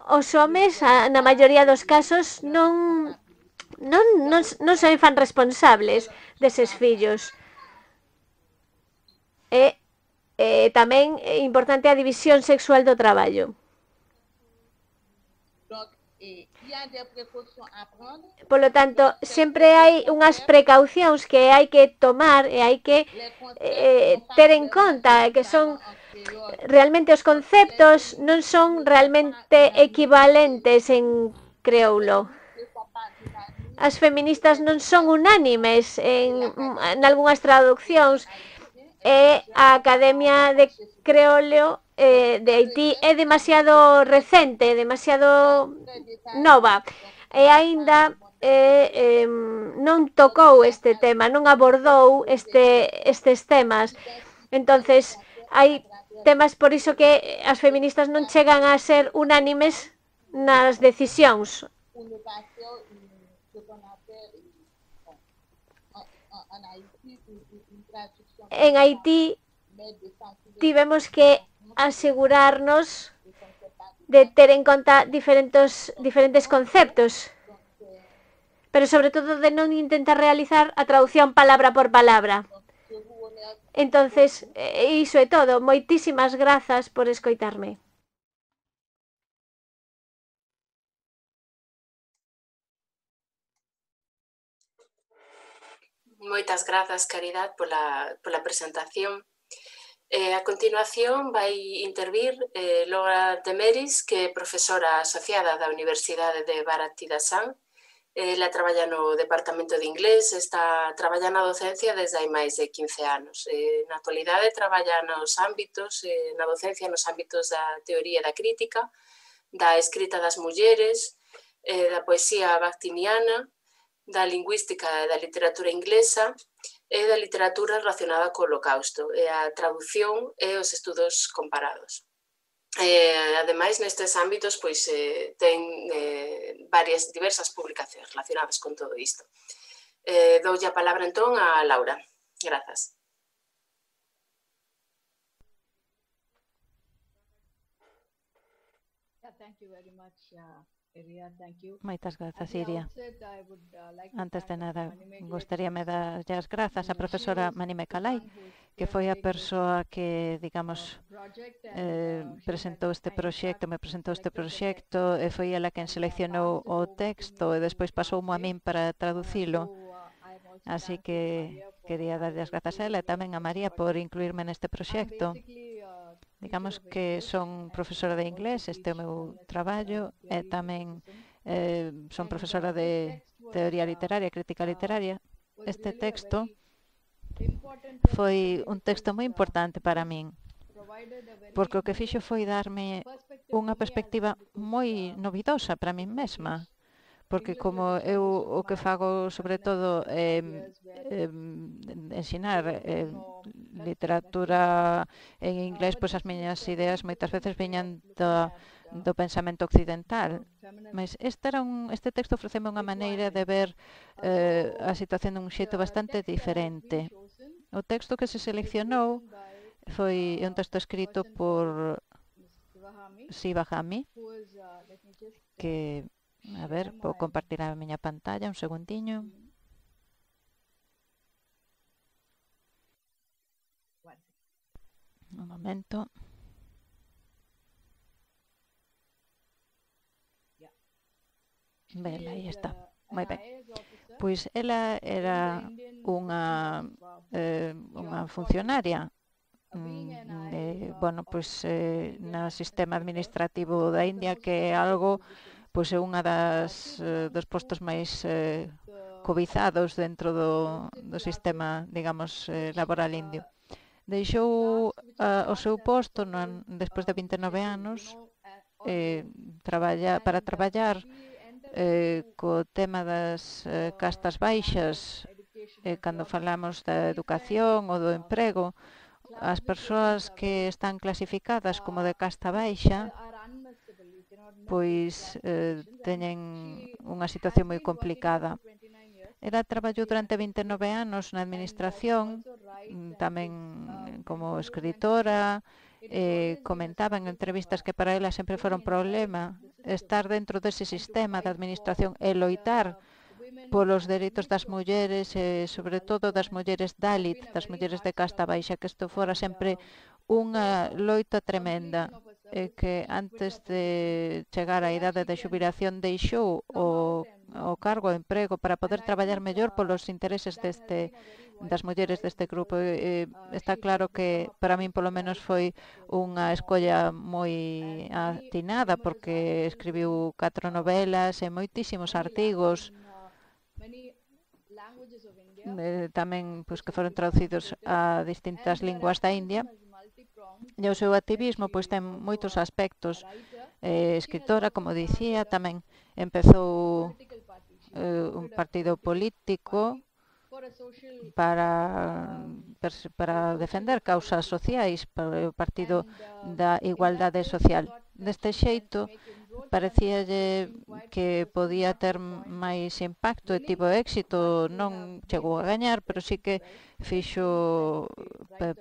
os homes, na maioría dos casos, non, non, non, non se fan responsables deses fillos. E eh, tamén é importante a división sexual do traballo. Polo tanto, sempre hai unhas precaucións que hai que tomar e hai que eh, ter en conta, que son realmente os conceptos non son realmente equivalentes en creoulo. As feministas non son unánimes en, en algunhas traduccións, e a Academia de Creoleo eh, de Haití é demasiado recente, demasiado nova, e aínda eh, eh, non tocou este tema, non abordou este, estes temas. Entonces, hai temas por iso que as feministas non chegan a ser unánimes nas decisións. En Haití tivemos que asegurarnos de ter en conta diferentes, diferentes conceptos, pero sobre todo de non intentar realizar a traducción palabra por palabra. Entonces, iso é todo. Moitísimas grazas por escoitarme. Moitas grazas, Caridad, pola, pola presentación. Eh, a continuación vai intervir eh, Laura Demeris, que é profesora asociada da Universidade de Bharat-Tidasam. Ela traballa no Departamento de Inglés, está traballa na docencia desde hai máis de quince anos. Eh, na actualidade traballa nos ámbitos, eh, na docencia nos ámbitos da teoría e da crítica, da escrita das mulleres, eh, da poesía bactiniana, da lingüística e da literatura inglesa e da literatura relacionada co Holocausto, e a traducción e os estudos comparados. Eh, ademais, nestes ámbitos, pois, eh, ten eh, varias diversas publicacións relacionadas con todo isto. Eh, doulle a palabra, entón, a Laura. Grazas. Moitas grazas, Iria. Antes de nada, gostaríame dar as grazas á profesora Manime Kalai, que foi a persoa que, digamos, eh, presentou este proxecto, me presentou este proxecto, e foi ela quen seleccionou o texto e despois pasoumo a min para traducilo. Así que quería darlle as grazas a ela e tamén a María por incluirme neste proxecto. Digamos que son profesora de inglés, este é o meu traballo, e tamén eh, son profesora de teoría literaria, crítica literaria. Este texto foi un texto moi importante para min, porque o que fixo foi darme unha perspectiva moi novidosa para min mesma, porque como eu o que fago sobre todo é eh, ensinar eh, literatura en inglés, pois as miñas ideas moitas veces viñan do, do pensamento occidental, mas este, era un, este texto ofreceme unha maneira de ver eh, a situación dun xeito bastante diferente. O texto que se seleccionou foi un texto escrito por Sivahami, que, a ver, vou compartir a miña pantalla un segundiño. Un momento. Ben, aí está. Moi ben. Pois ela era unha, eh, unha funcionaria eh, bueno, pois eh, no sistema administrativo da India, que é algo, pois é unha das eh, dos postos máis eh, cobizados dentro do, do sistema, digamos, eh, laboral indio. Deixou uh, o seu posto no, despois de vinte e nove anos eh, traballa, para traballar eh, co tema das eh, castas baixas, eh, cando falamos da educación ou do emprego. As persoas que están clasificadas como de casta baixa pois eh, teñen unha situación moi complicada. Ela traballou durante vinte e nove anos na administración, tamén como escritora, eh, comentaba en entrevistas que para ela sempre fora un problema estar dentro dese sistema de administración e loitar polos dereitos das mulleres, e sobre todo das mulleres Dalit, das mulleres de casta baixa, que isto fora sempre unha loita tremenda, e que antes de chegar á idade de xubilación deixou o, o cargo, o emprego, para poder traballar mellor polos intereses deste, das mulleres deste grupo. E, está claro que para min polo menos foi unha escolla moi atinada, porque escribiu catro novelas e moitísimos artigos, eh, tamén pois, que foron traducidos a distintas linguas da India. E o seu activismo pois ten moitos aspectos. Eh, escritora, como dicía, tamén empezou eh, un partido político para, para defender causas sociais, para o Partido da Igualdade Social. Deste xeito, parecíalle que podía ter máis impacto e tivo éxito. Non chegou a gañar, pero sí que fixo,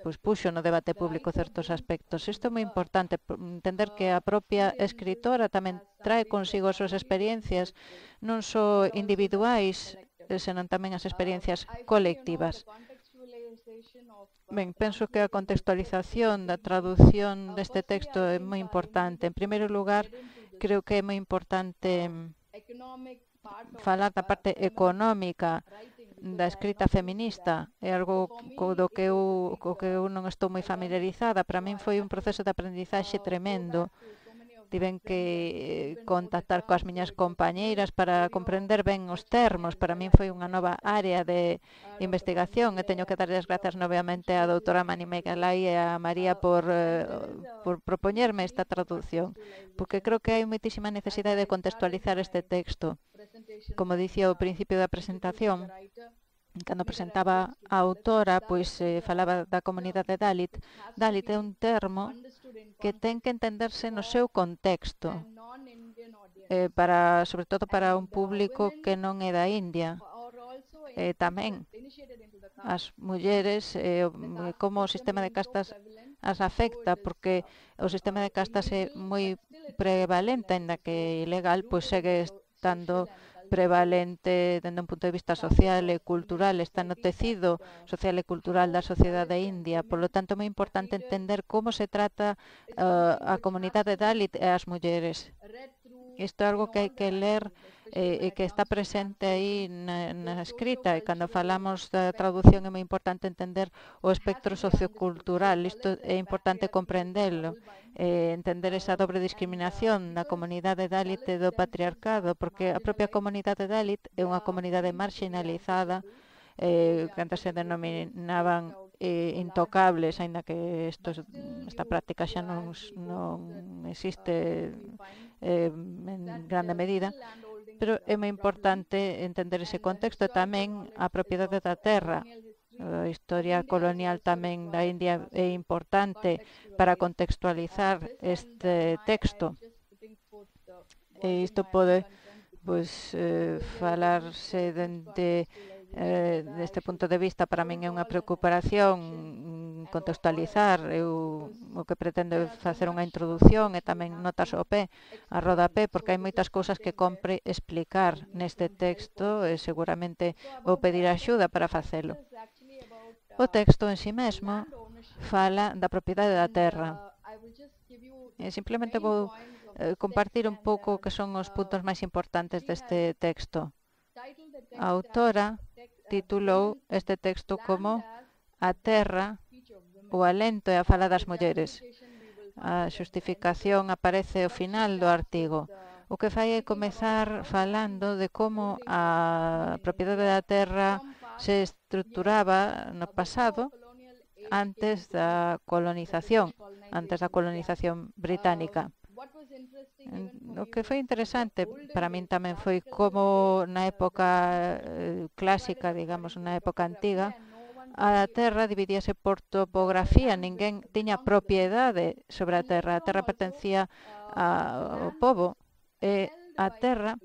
pois, puxo no debate público certos aspectos. Isto é moi importante, entender que a propia escritora tamén trae consigo as súas experiencias, non só individuais, senón tamén as experiencias colectivas. Ben, penso que a contextualización da traducción deste texto é moi importante. En primeiro lugar, creo que é moi importante falar da parte económica da escrita feminista. É algo co do que eu, co que eu non estou moi familiarizada. Para min foi un proceso de aprendizaxe tremendo. Tiven que contactar coas miñas compañeiras para comprender ben os termos. Para min foi unha nova área de investigación e teño que darlle as grazas novamente á doutora Mani Megalai e a María por, eh, por propoñerme esta traducción, porque creo que hai moitísima necesidade de contextualizar este texto. Como dicía ao principio da presentación, cando presentaba a autora, pois eh, falaba da comunidade Dalit. Dalit é un termo que ten que entenderse no seu contexto, eh, para, sobre todo para un público que non é da India. Eh, tamén as mulleres, eh, como o sistema de castas as afecta, porque o sistema de castas é moi prevalente, ainda que ilegal, pois segue estando prevalente dende un punto de vista social e cultural, está no tecido social e cultural da sociedade india. Por lo tanto, é moi importante entender como se trata uh, a comunidade Dalit e as mulleres. Isto é algo que hai que ler e eh, que está presente aí na, na escrita, e cando falamos da traducción é moi importante entender o espectro sociocultural. Isto é importante comprendelo, eh, entender esa dobre discriminación da comunidade Dalit e do patriarcado, porque a propia comunidade Dalit é unha comunidade marginalizada, eh, que antes se denominaban eh, intocables, aínda que esto, esta práctica xa non, non existe eh, en grande medida. Pero é moi importante entender ese contexto e tamén a propiedade da terra. A historia colonial tamén da India é importante para contextualizar este texto. E isto pode pois, eh, falarse dende eh, deste punto de vista. Para min é unha preocupación contextualizar. Eu o que pretendo é facer unha introducción e tamén notas ao pé, a rodapé, porque hai moitas cousas que compre explicar neste texto e seguramente vou pedir axuda para facelo. O texto en si mesmo fala da propiedade da terra. E simplemente vou eh, compartir un pouco que son os puntos máis importantes deste texto. A autora titulou este texto como A terra, o alento e a fala das mulleres. A xustificación aparece ao final do artigo. O que fai é comezar falando de como a propiedade da terra se estruturaba no pasado antes da colonización, antes da colonización británica. O que foi interesante para min tamén foi como na época clásica, digamos, na época antiga, a terra dividíase por topografía, ninguén tiña propiedade sobre a terra, a terra pertencía ao pobo, e a terra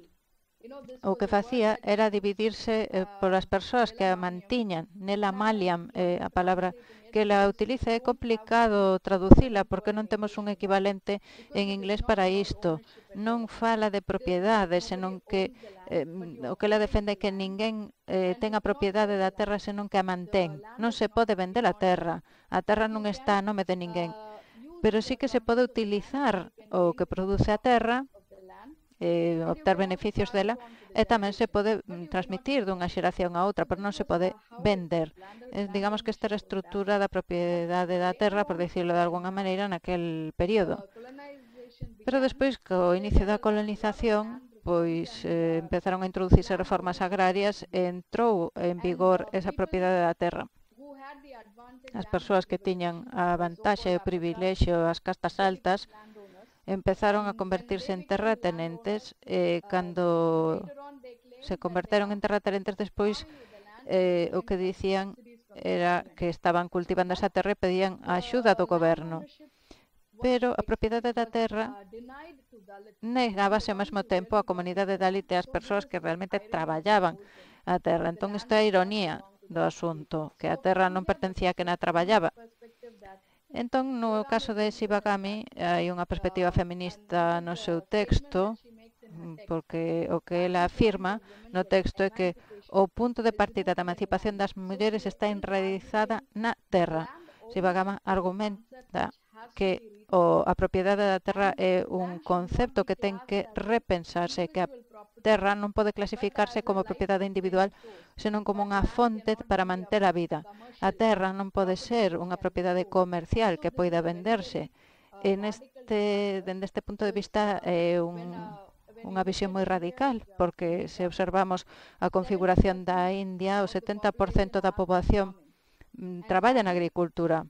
o que facía era dividirse eh, polas persoas que a mantiñan. Nela maliam, eh, a palabra que la utiliza, é complicado traducila porque non temos un equivalente en inglés para isto. Non fala de propiedade, senón que eh, o que ela defende é que ninguén eh, ten a propiedade da terra senón que a mantén. Non se pode vender a terra. A terra non está a nome de ninguén. Pero sí que se pode utilizar o que produce a terra, eh, obter beneficios dela, e tamén se pode mm, transmitir dunha xeración a outra, pero non se pode vender. Eh, digamos que esta era a estrutura da propiedade da terra, por decirlo de alguna maneira, naquel período. Pero despois, co inicio da colonización, pois eh, empezaron a introducirse reformas agrarias e entrou en vigor esa propiedade da terra. As persoas que tiñan a vantaxe e o privilexio, as castas altas, empezaron a convertirse en terratenentes e cando se converteron en terratenentes despois eh, o que dicían era que estaban cultivando esa terra e pedían a axuda do goberno. Pero a propiedade da terra negábase ao mesmo tempo a comunidade Dalit e as persoas que realmente traballaban a terra. Entón, isto é a ironía do asunto, que a terra non pertencía a quen a traballaba. Entón, no caso de Shibagami, hai unha perspectiva feminista no seu texto, porque o que ela afirma no texto é que o punto de partida da emancipación das mulleres está enraizada na terra. Shibagami argumenta que o, a propiedade da terra é un concepto que ten que repensarse, que a terra non pode clasificarse como propiedade individual, senón como unha fonte para manter a vida. A terra non pode ser unha propiedade comercial que poida venderse. En este, dende este punto de vista é un, unha visión moi radical, porque se observamos a configuración da India, o setenta por cento da poboación mm, traballa na agricultura.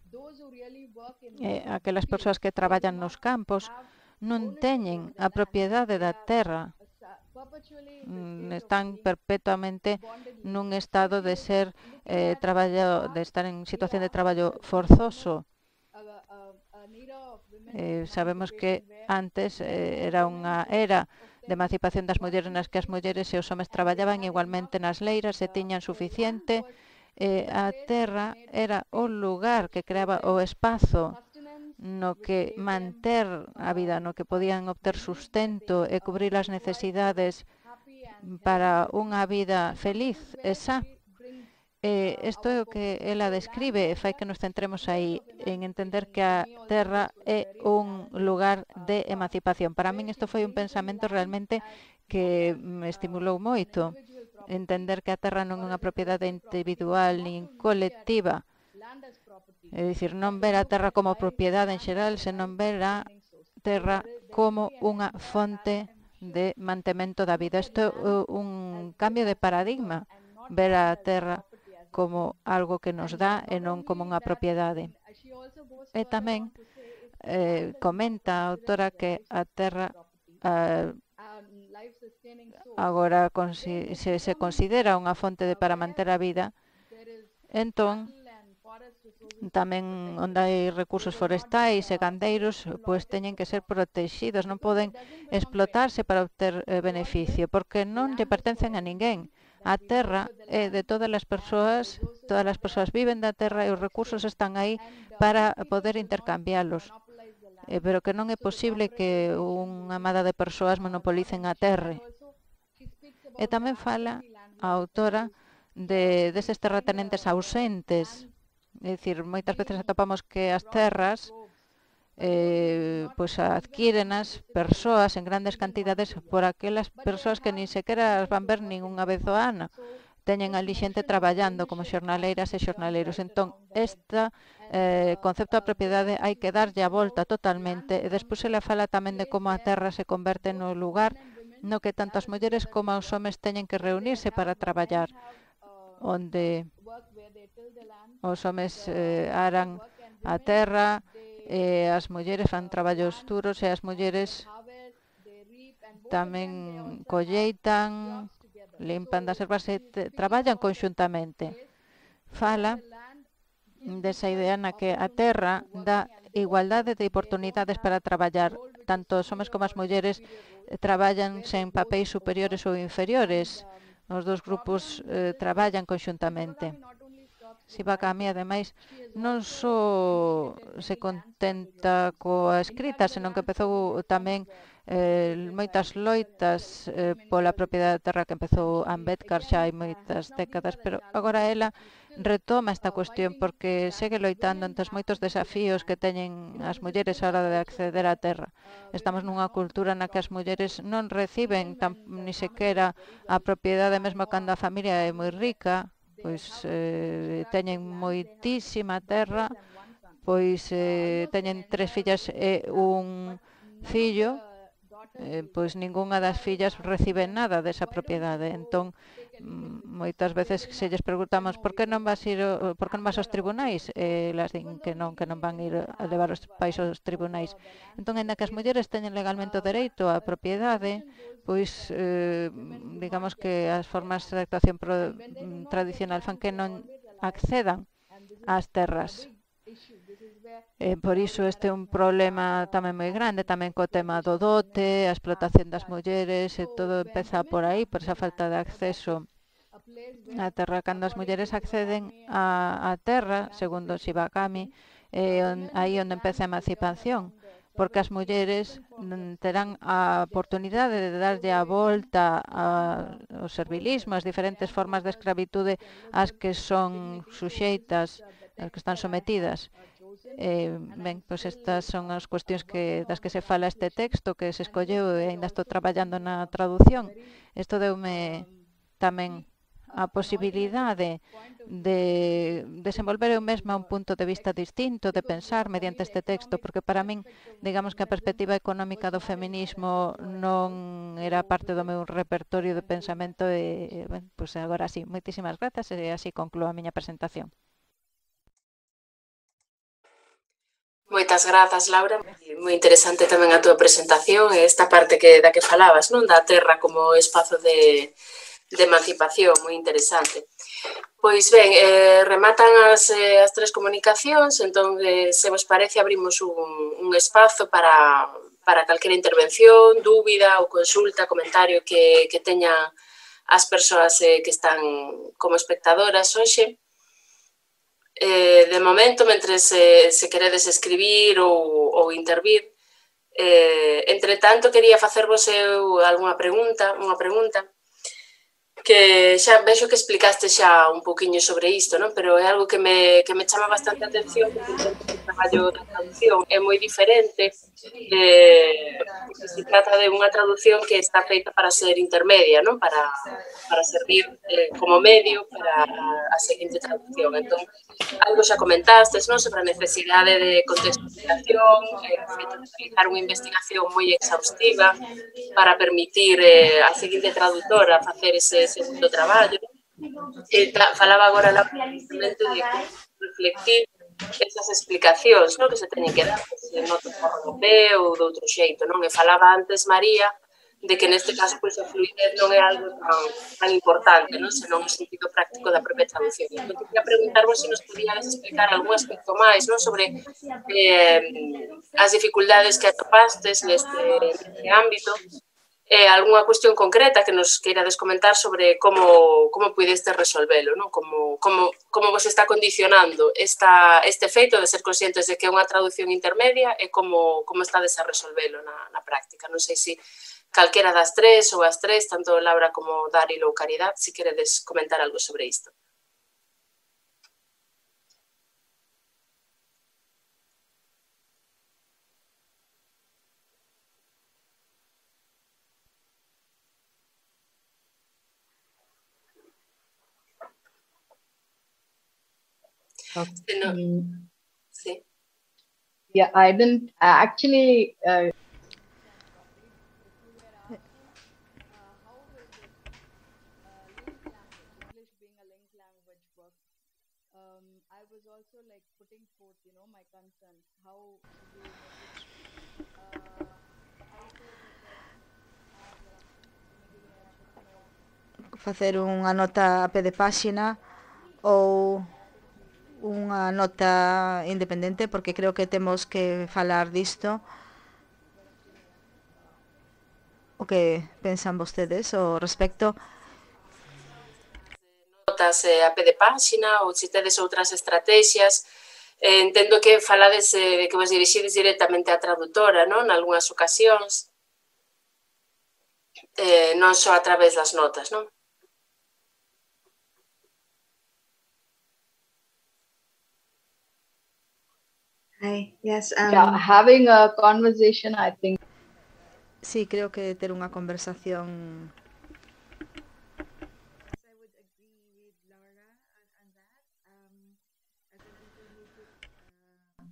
Eh, aquelas persoas que traballan nos campos non teñen a propiedade da terra, mm, están perpetuamente nun estado de ser eh, traballo, de estar en situación de traballo forzoso. Eh, sabemos que antes eh, era unha era de emancipación das mulleres nas que as mulleres e os homes traballaban igualmente nas leiras e tiñan suficiente. Eh, a terra era o lugar que creaba o espazo no que manter a vida, no que podían obter sustento e cubrir as necesidades para unha vida feliz e xa. Eh, isto é o que ela describe e fai que nos centremos aí en entender que a terra é un lugar de emancipación. Para min isto foi un pensamento realmente que me estimulou moito. Entender que a terra non é unha propiedade individual nin colectiva. É dicir, non ver a terra como propiedade en xeral, senón ver a terra como unha fonte de mantemento da vida. Isto é un cambio de paradigma, ver a terra como algo que nos dá e non como unha propiedade. E tamén eh, comenta a autora que a terra eh, agora se se considera unha fonte de para manter a vida, entón tamén onde hai recursos forestais e gandeiros, pois teñen que ser protegidos, non poden explotarse para obter eh, beneficio, porque non lle pertencen a ninguén. A terra é de todas as persoas, todas as persoas viven da terra e os recursos están aí para poder intercambialos. Eh, pero que non é posible que unha amada de persoas monopolicen a terra. E tamén fala a autora de deses terratenentes ausentes. É dicir, moitas veces atopamos que as terras eh, pois adquírenas persoas en grandes cantidades por aquelas persoas que nin sequera as van ver nin unha vez ao ano. Teñen ali xente traballando como xornaleiras e xornaleiros. Entón, este eh, concepto da propiedade hai que darlle a volta totalmente. E despois ela fala tamén de como a terra se converte no lugar no que tanto as mulleres como os homes teñen que reunirse para traballar, onde os homes eh, aran a terra, e as mulleres fan traballos duros e as mulleres tamén colleitan, limpan das ervas e traballan conxuntamente. Fala desa idea na que a terra dá igualdade de oportunidades para traballar. tanto os homes como as mulleres traballan sen papéis superiores ou inferiores. Os dos grupos eh, traballan conxuntamente. Sivakami, ademais, non só se contenta coa escrita, senón que empezou tamén eh, moitas loitas eh, pola propiedade da terra que empezou Ambedkar xa hai moitas décadas, pero agora ela retoma esta cuestión porque segue loitando entre os moitos desafíos que teñen as mulleres a hora de acceder á terra. Estamos nunha cultura na que as mulleres non reciben tan, ni sequera a propiedade mesmo cando a familia é moi rica, pois eh, teñen moitísima terra, pois eh, teñen tres fillas e un fillo, eh, pois ningunha das fillas recibe nada desa propiedade. Entón, moitas veces se lles preguntamos por que non vas ir, por que non vas aos tribunais, e elas din que non, que non van ir a levar os pais aos tribunais. Entón, ainda que as mulleres teñen legalmente o dereito á propiedade, pois eh, digamos que as formas de actuación pro, tradicional fan que non accedan ás terras. Eh, por iso este é un problema tamén moi grande, tamén co tema do dote, a explotación das mulleres, e todo empeza por aí, por esa falta de acceso á terra. Cando as mulleres acceden á, á terra, segundo Sivakami, é eh, aí onde empeza a emancipación, porque as mulleres terán a oportunidade de darlle a volta ao servilismo, as diferentes formas de escravitude ás que son suxeitas, as que están sometidas. Eh, ben, pois estas son as cuestións que, das que se fala este texto que se escolleu e ainda estou traballando na traducción. Isto deume tamén a posibilidade de desenvolver eu mesma un punto de vista distinto, de pensar mediante este texto, porque para min, digamos que a perspectiva económica do feminismo non era parte do meu repertorio de pensamento e, ben, pois agora sí, moitísimas grazas e así concluo a miña presentación. Moitas grazas, Laura. Moi interesante tamén a túa presentación e esta parte que da que falabas, non, da terra como espazo de, de emancipación, moi interesante. Pois ben, eh, rematan as, eh, as tres comunicacións, entón, eh, se vos parece, abrimos un, un espazo para, para calquera intervención, dúbida ou consulta, comentario que, que teñan as persoas eh, que están como espectadoras hoxe. Eh, de momento, mentre se, se queredes escribir ou, ou intervir, eh, entre tanto, quería facervos eu algunha pregunta, unha pregunta, que xa vexo que explicaste xa un poquinho sobre isto, non? Pero é algo que me, que me chama bastante a atención, porque o traballo da traducción é moi diferente, eh, porque se trata de unha traducción que está feita para ser intermedia, non? Para, para servir eh, como medio para a seguinte traducción. Entón, algo xa comentastes, non? Sobre a necesidade de contextualización, eh, de realizar unha investigación moi exhaustiva para permitir eh, a seguinte traductora facer ese segundo traballo. E falaba agora la precisamente de reflectir esas explicacións, non, que se teñen que dar se noutro europeo ou de outro xeito, non? E falaba antes María de que neste caso pois, a fluidez non é algo tan, tan importante, non? Senón o sentido práctico da propia traducción. Entón, quería preguntarvos se nos podíades explicar algún aspecto máis, non? Sobre eh, as dificultades que atopastes neste, neste ámbito, eh, algunha cuestión concreta que nos queirades comentar sobre como, como pudeste resolvelo, non? Como, como, como vos está condicionando esta, este feito de ser conscientes de que é unha traducción intermedia e como, como estades a resolvelo na, na práctica. Non sei se calquera das tres ou as tres, tanto Laura como Daril ou Caridad, se queredes comentar algo sobre isto. Okay. No. Sí. Yeah, I didn't actually. Uh... Facer unha nota a pé de páxina ou unha nota independente, porque creo que temos que falar disto. o que pensan vostedes ao respecto. Notas eh, a pé de páxina ou se tedes outras estrategias. Eh, entendo que falades eh, de que vos dirixides directamente á traductora, non? Nalgúnas ocasións. Eh, non só a través das notas, non? Hi. Yes. Um, Yeah, having a conversation, I think. Sí, creo que ter unha conversación. I would agree with Laura on, on that. Um, as an intermediate uh,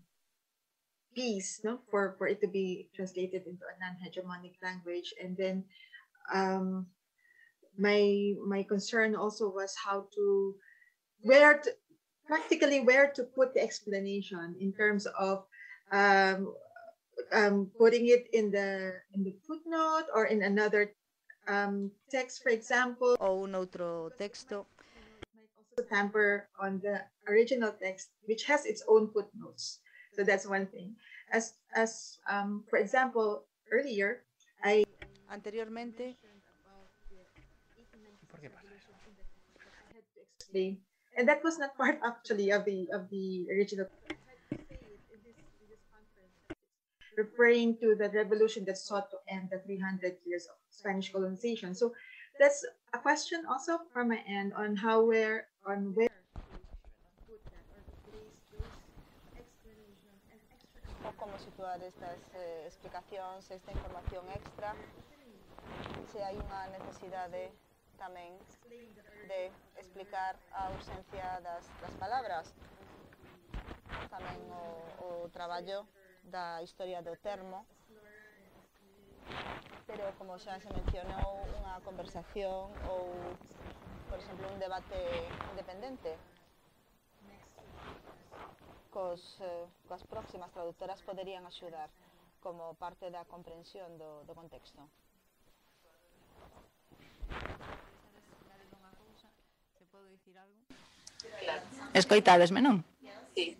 piece, no, for for it to be translated into a non-hegemonic language, and then um, my my concern also was how to where to practically where to put the explanation in terms of um, um, putting it in the in the footnote or in another um, text, for example. Ou un outro texto. Might also tamper on the original text, which has its own footnotes. So that's one thing. As as um, for example, earlier I Anteriormente. I had to explain. And that was not part actually of the of the original. I had to say it in this in this conference. It's referring to the revolution that sought to end the three hundred years of Spanish colonization. So that's a question also from my end on how where on where to put that or to place those explanation and extra. O como situar estas eh, explicacións, esta información extra, se hai unha necesidade tamén de explicar a ausencia das, das palabras. Tamén o, o traballo da historia do termo, pero como xa se mencionou, unha conversación ou, por exemplo, un debate independente cos, eh, coas próximas traductoras poderían axudar como parte da comprensión do, do contexto. Escoitadesme, non? Sí.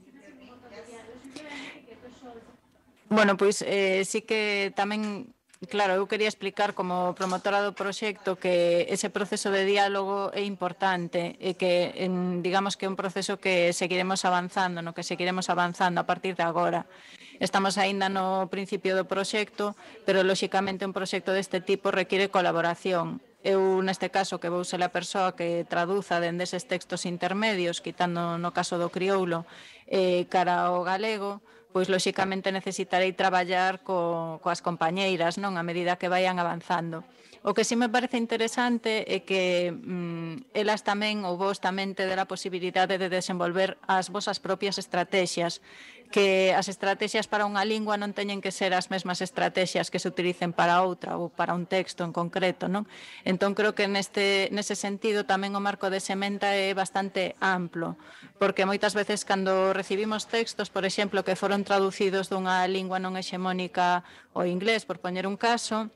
Bueno, pois eh, sí que tamén, claro, eu quería explicar como promotora do proxecto que ese proceso de diálogo é importante e que, en, digamos que é un proceso que seguiremos avanzando, no que seguiremos avanzando a partir de agora. Estamos aínda no principio do proxecto, pero, lóxicamente, un proxecto deste tipo require colaboración. Eu, neste caso, que vou ser a persoa que traduza dende eses textos intermedios, quitando no caso do crioulo, eh, cara ao galego, pois, lóxicamente, necesitarei traballar co, coas compañeiras, non, a medida que vayan avanzando. O que sí me parece interesante é que mm, elas tamén, ou vos tamén, tedes a posibilidade de desenvolver as vosas propias estrategias, que as estrategias para unha lingua non teñen que ser as mesmas estrategias que se utilicen para outra ou para un texto en concreto, non? Entón, creo que neste, nese sentido tamén o marco de Sementa é bastante amplo, porque moitas veces cando recibimos textos, por exemplo, que foron traducidos dunha lingua non hexemónica ao inglés, por poñer un caso,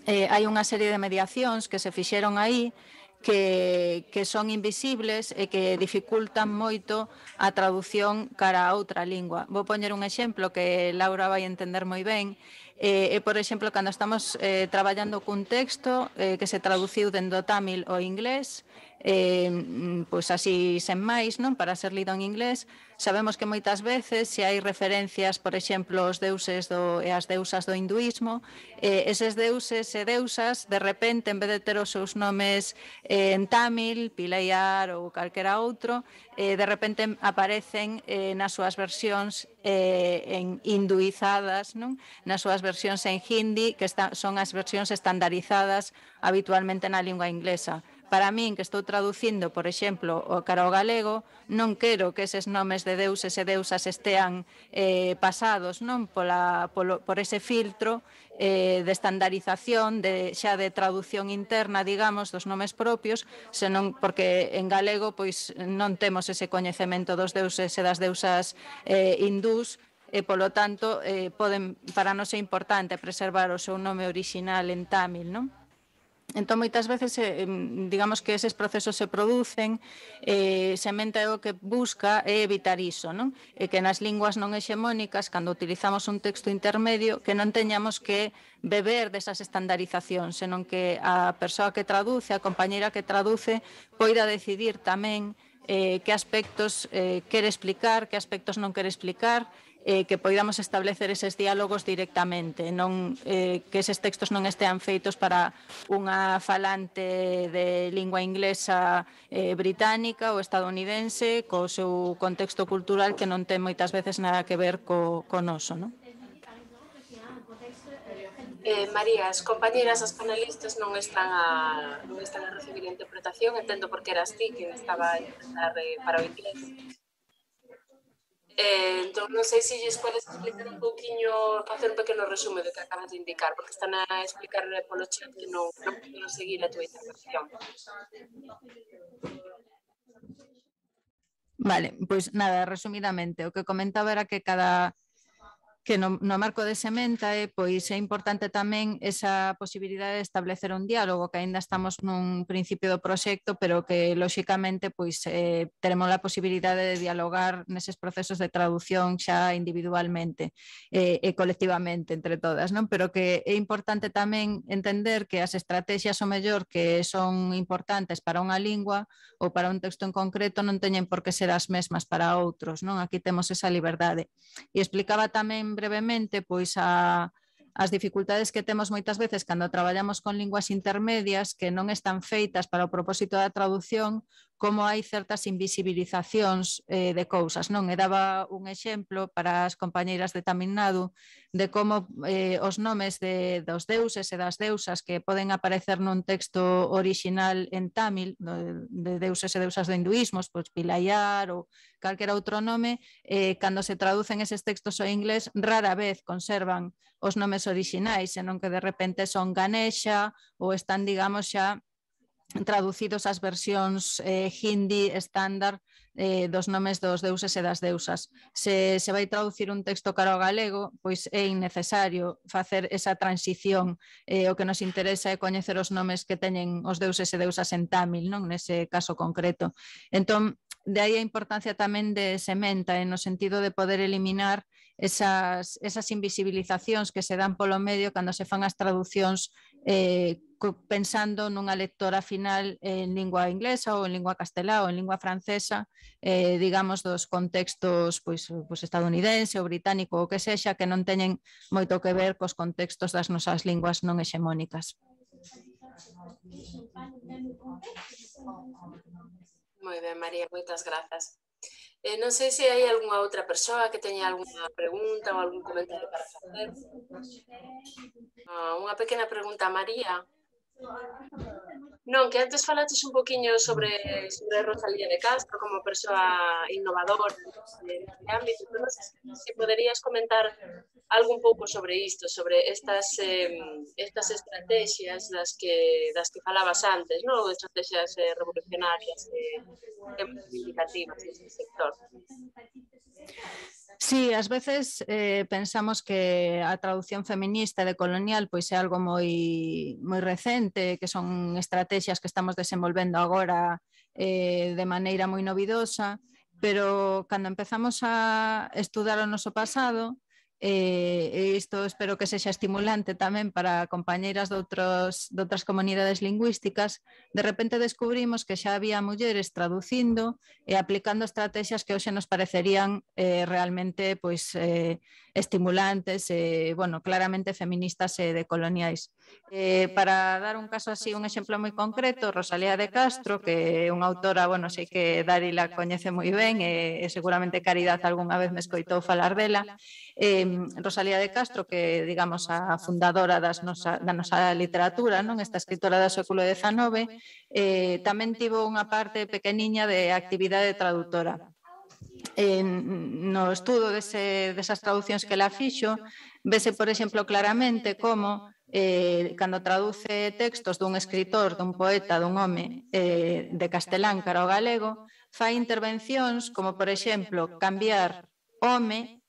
eh, hai unha serie de mediacións que se fixeron aí que, que son invisibles e que dificultan moito a traducción cara a outra lingua. Vou poñer un exemplo que Laura vai entender moi ben. E, eh, por exemplo, cando estamos eh, traballando cun texto eh, que se traduciu dende o tamil ao inglés, eh, pois así sen máis, non, para ser lido en inglés, sabemos que moitas veces se hai referencias, por exemplo, aos deuses do, e as deusas do hinduismo, eh, eses deuses e deusas, de repente, en vez de ter os seus nomes eh, en tamil, Pilayar ou calquera outro, eh, de repente aparecen eh, nas súas versións eh, en hinduizadas, non? Nas súas versións en hindi, que está, son as versións estandarizadas habitualmente na lingua inglesa. Para min, que estou traducindo, por exemplo, o cara ao galego, non quero que eses nomes de deuses e deusas estean eh, pasados, non, pola, polo, por ese filtro eh, de estandarización, de, xa de traducción interna, digamos, dos nomes propios, senón porque en galego pois non temos ese coñecemento dos deuses e das deusas eh, hindús, e, polo tanto, eh, poden, para nós é importante preservar o seu nome orixinal en tamil, non? Entón, moitas veces, eh, digamos que eses procesos se producen, eh, Sementa é o que busca é evitar iso, non? E que nas linguas non hexemónicas, cando utilizamos un texto intermedio, que non teñamos que beber desas estandarizacións, senón que a persoa que traduce, a compañeira que traduce, poida decidir tamén eh, que aspectos eh, quere explicar, que aspectos non quere explicar, eh, que poidamos establecer eses diálogos directamente, non eh, que eses textos non estean feitos para unha falante de lingua inglesa eh, británica ou estadounidense co seu contexto cultural que non ten moitas veces nada que ver co, co noso, non? Eh, María, as compañeras, as panelistas non están a, non están a recibir interpretación, entendo porque eras ti que estaba a interpretar eh, para o inglés. Eh, entón, non sei se lles podes explicar un pouquiño, facer un pequeno resume do que acabas de indicar, porque están a explicar polo chat que non, non podo seguir a túa intervención. Vale, pois nada, resumidamente, o que comentaba era que cada que no, no marco de Sementa eh, pois é importante tamén esa posibilidade de establecer un diálogo, que aínda estamos nun principio do proxecto, pero que lóxicamente pois eh, teremos a posibilidade de dialogar neses procesos de traducción xa individualmente eh, e colectivamente entre todas, non? Pero que é importante tamén entender que as estrategias o mellor que son importantes para unha lingua ou para un texto en concreto non teñen por que ser as mesmas para outros, non? Aquí temos esa liberdade. E explicaba tamén brevemente pois a, as dificultades que temos moitas veces cando traballamos con linguas intermedias que non están feitas para o propósito da traducción, como hai certas invisibilizacións eh, de cousas, non? E daba un exemplo para as compañeiras de Tamil Nadu de como eh, os nomes de, dos deuses e das deusas que poden aparecer nun texto original en Tamil, de, de deuses e deusas do hinduismo, pois Pilayar ou calquera outro nome, eh, cando se traducen eses textos ao inglés, rara vez conservan os nomes orixinais, senón que de repente son Ganesha ou están, digamos, xa traducidos as versións eh, hindi estándar eh, dos nomes dos deuses e das deusas. Se se vai traducir un texto cara ao galego, pois é innecesario facer esa transición. Eh, o que nos interesa é coñecer os nomes que teñen os deuses e deusas en Tamil, non? Nese caso concreto. Entón, de aí a importancia tamén de Sementa, eh, no sentido de poder eliminar esas, esas invisibilizacións que se dan polo medio cando se fan as traducións eh, pensando nunha lectora final en lingua inglesa ou en lingua castelá ou en lingua francesa, eh, digamos, dos contextos pois, pois estadounidense ou británico ou que sexa, que non teñen moito que ver cos contextos das nosas linguas non hexemónicas. Moi ben, María, moitas grazas. Eh, non sei se hai algunha outra persoa que teña algunha pregunta ou algún comentario para facer. Ah, unha pequena pregunta a María. Non, que antes falaches un poquinho sobre, sobre Rosalía de Castro como persoa innovadora neste ámbito, pero non sei se poderías comentar algo un pouco sobre isto, sobre estas, eh, estas estrategias das que, das que falabas antes, non? Estrategias eh, revolucionarias e eh, reivindicativas neste sector. Sí, ás veces eh, pensamos que a traducción feminista de colonial pois é algo moi, moi recente, que son estrategias que estamos desenvolvendo agora eh, de maneira moi novidosa, pero cando empezamos a estudar o noso pasado, e isto espero que sexa estimulante tamén para compañeiras de, outros, de outras comunidades lingüísticas, de repente descubrimos que xa había mulleres traducindo e aplicando estrategias que hoxe nos parecerían eh, realmente pois, eh, estimulantes e, bueno, claramente feministas e decoloniais. Eh, para dar un caso así, un exemplo moi concreto, Rosalía de Castro, que é unha autora, bueno, sei que Dari la coñece moi ben e, e seguramente Caridad algunha vez me escoitou falar dela. Eh, Rosalía de Castro, que digamos a fundadora das nosa, da nosa literatura, non? Esta escritora do século dezanove, eh, tamén tivo unha parte pequeniña de actividade traductora. Eh, no estudo dese, desas traduccións que la fixo, vese, por exemplo, claramente como eh, cando traduce textos dun escritor, dun poeta, dun home eh, de castelán cara ao galego, fai intervencións como, por exemplo, cambiar home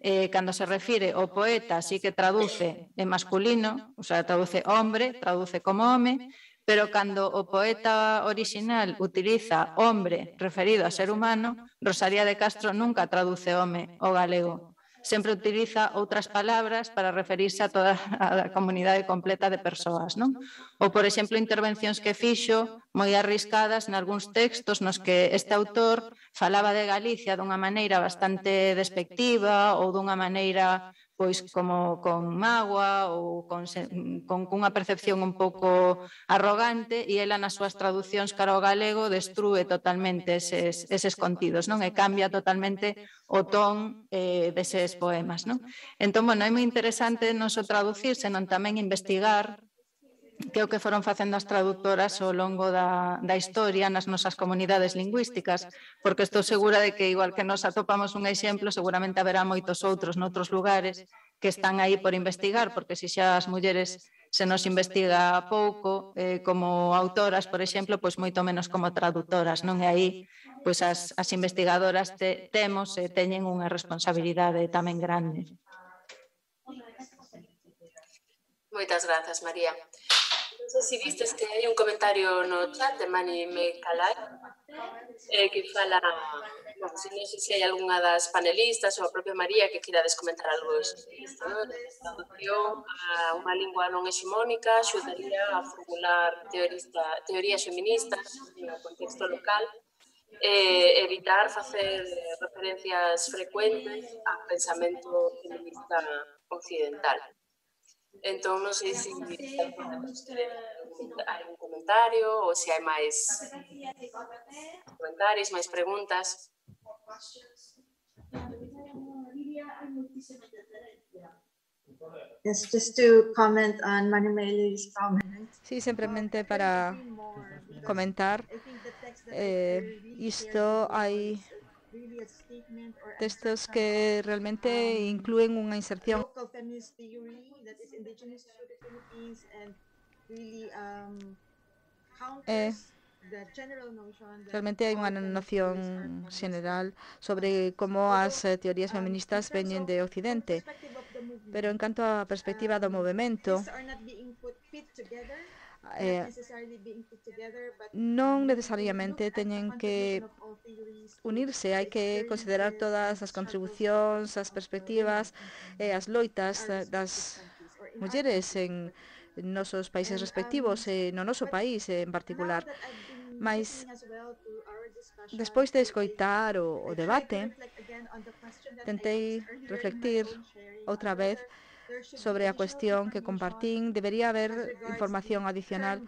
Eh, cando se refire ao poeta, sí que traduce en masculino, o sea, traduce hombre, traduce como home, pero cando o poeta original utiliza hombre referido a ser humano, Rosalía de Castro nunca traduce home ao galego. Sempre utiliza outras palabras para referirse a toda a comunidade completa de persoas, non? Ou, por exemplo, intervencións que fixo moi arriscadas nalgúns textos nos que este autor falaba de Galicia dunha maneira bastante despectiva ou dunha maneira pois como con mágoa ou con, con unha percepción un pouco arrogante, e ela nas súas traduccións cara ao galego destrúe totalmente eses, eses contidos, non? E cambia totalmente o ton eh, deses poemas, non? Entón, bueno, é moi interesante non só traducir, senón tamén investigar que é o que foron facendo as traductoras ao longo da, da historia nas nosas comunidades lingüísticas, porque estou segura de que, igual que nos atopamos un exemplo, seguramente haberá moitos outros noutros lugares que están aí por investigar, porque se xa as mulleres se nos investiga pouco eh, como autoras, por exemplo, pois moito menos como traductoras, non? E aí pois as, as investigadoras te, temos e teñen unha responsabilidade tamén grande. Moitas grazas, María. Non sei se vistes que hai un comentario no chat de Mani Mecalai eh, que fala, non sei, non sei se hai algunha das panelistas ou a propia María que queirades comentar algo sobre isto, non? A traducción a unha lingua non hexemónica axudaría a formular teorista, teorías feministas no contexto local e evitar facer referencias frecuentes ao pensamento feminista occidental. Entón, non sei se hai un comentario ou se hai máis comentarios, máis preguntas. Yes, just to comment on Manimeli's comment. Sí, simplemente para comentar, eh, isto hai textos que realmente inclúen unha inserción eh, realmente hai unha noción xeneral sobre como as teorías feministas veñen de Occidente, pero en canto á perspectiva do movemento, Eh, non necesariamente teñen que unirse, hai que considerar todas as contribucións, as perspectivas e as loitas das mulleres en nosos países respectivos e no noso país en particular. Mas, despois de escoitar o, o debate, tentei reflectir outra vez sobre a cuestión que compartín. Debería haber información adicional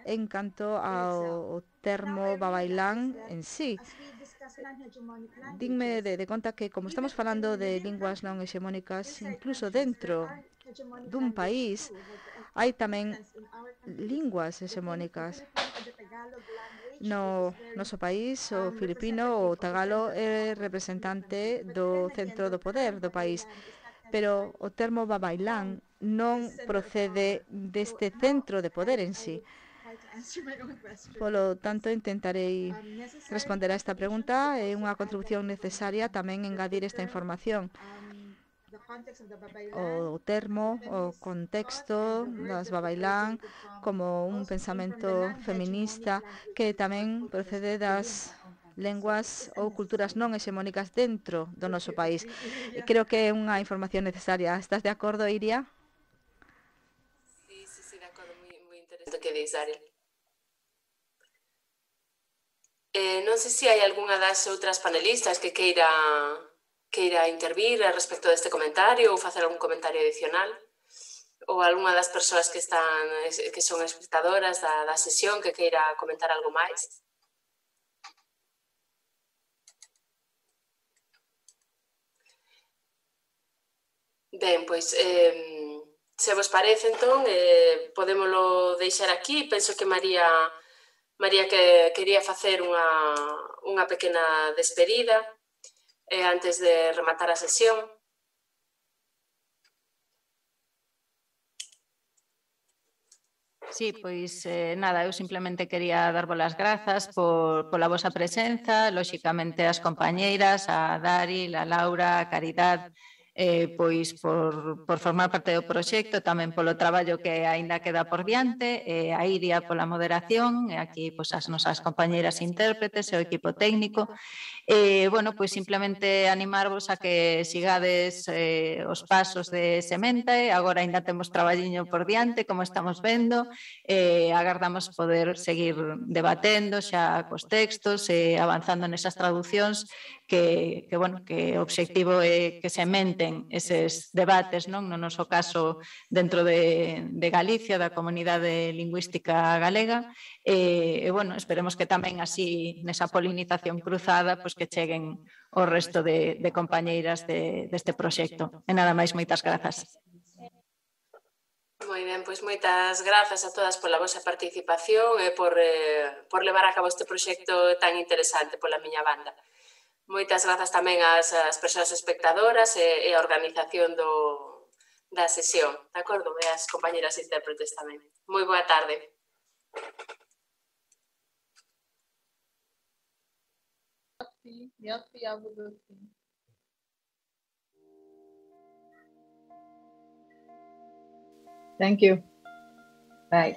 en canto ao termo babailán en sí. Dinme de, de conta que, como estamos falando de linguas non hexemónicas, incluso dentro dun país, hai tamén linguas hexemónicas. No noso país, o filipino, o tagalo é representante do centro do poder do país, pero o termo babailán non procede deste centro de poder en sí. Polo tanto, intentarei responder a esta pregunta. É unha contribución necesaria tamén engadir esta información. O termo, o contexto das babailán como un pensamento feminista que tamén procede das lenguas ou culturas non hexemónicas dentro do noso país. Creo que é unha información necesaria. Estás de acordo, Iria? Sí, sí, sí, de acordo. Moi, moi interesante o que dis, Ariel. Eh, non sei se hai algunha das outras panelistas que queira queira intervir respecto deste comentario ou facer algún comentario adicional, ou algunha das persoas que están que son espectadoras da, da sesión que queira comentar algo máis. Ben, pois, eh, se vos parece, entón, eh, podémolo deixar aquí. Penso que María María que quería facer unha, unha pequena despedida eh, antes de rematar a sesión. Sí, pois eh, nada, eu simplemente quería darvos as grazas por, pola vosa presenza, lóxicamente as compañeiras, a Dari, a Laura, a Caridad, eh, pois por, por formar parte do proxecto, tamén polo traballo que aínda queda por diante, eh, a Iria pola moderación, e aquí pois, as nosas compañeiras intérpretes e o equipo técnico. E, bueno, pois simplemente animarvos a que sigades eh, os pasos de Sementae, agora aínda temos traballiño por diante, como estamos vendo, e agardamos poder seguir debatendo xa cos textos e avanzando nesas traducións que, que, bueno, que o obxectivo é que sementen eses debates, non? No noso caso, dentro de, de Galicia, da comunidade lingüística galega, e, e, bueno, esperemos que tamén así, nesa polinización cruzada, pois que cheguen o resto de, de compañeiras de, deste proxecto. E nada máis, moitas grazas. Moi ben, pois moitas grazas a todas pola vosa participación e por, eh, por levar a cabo este proxecto tan interesante pola miña banda. Moitas grazas tamén ás, ás persoas espectadoras e, e a organización do, da sesión, de acordo? E as compañeras intérpretes tamén. Moi boa tarde. Merci, merci à vous aussi. Thank you. Bye.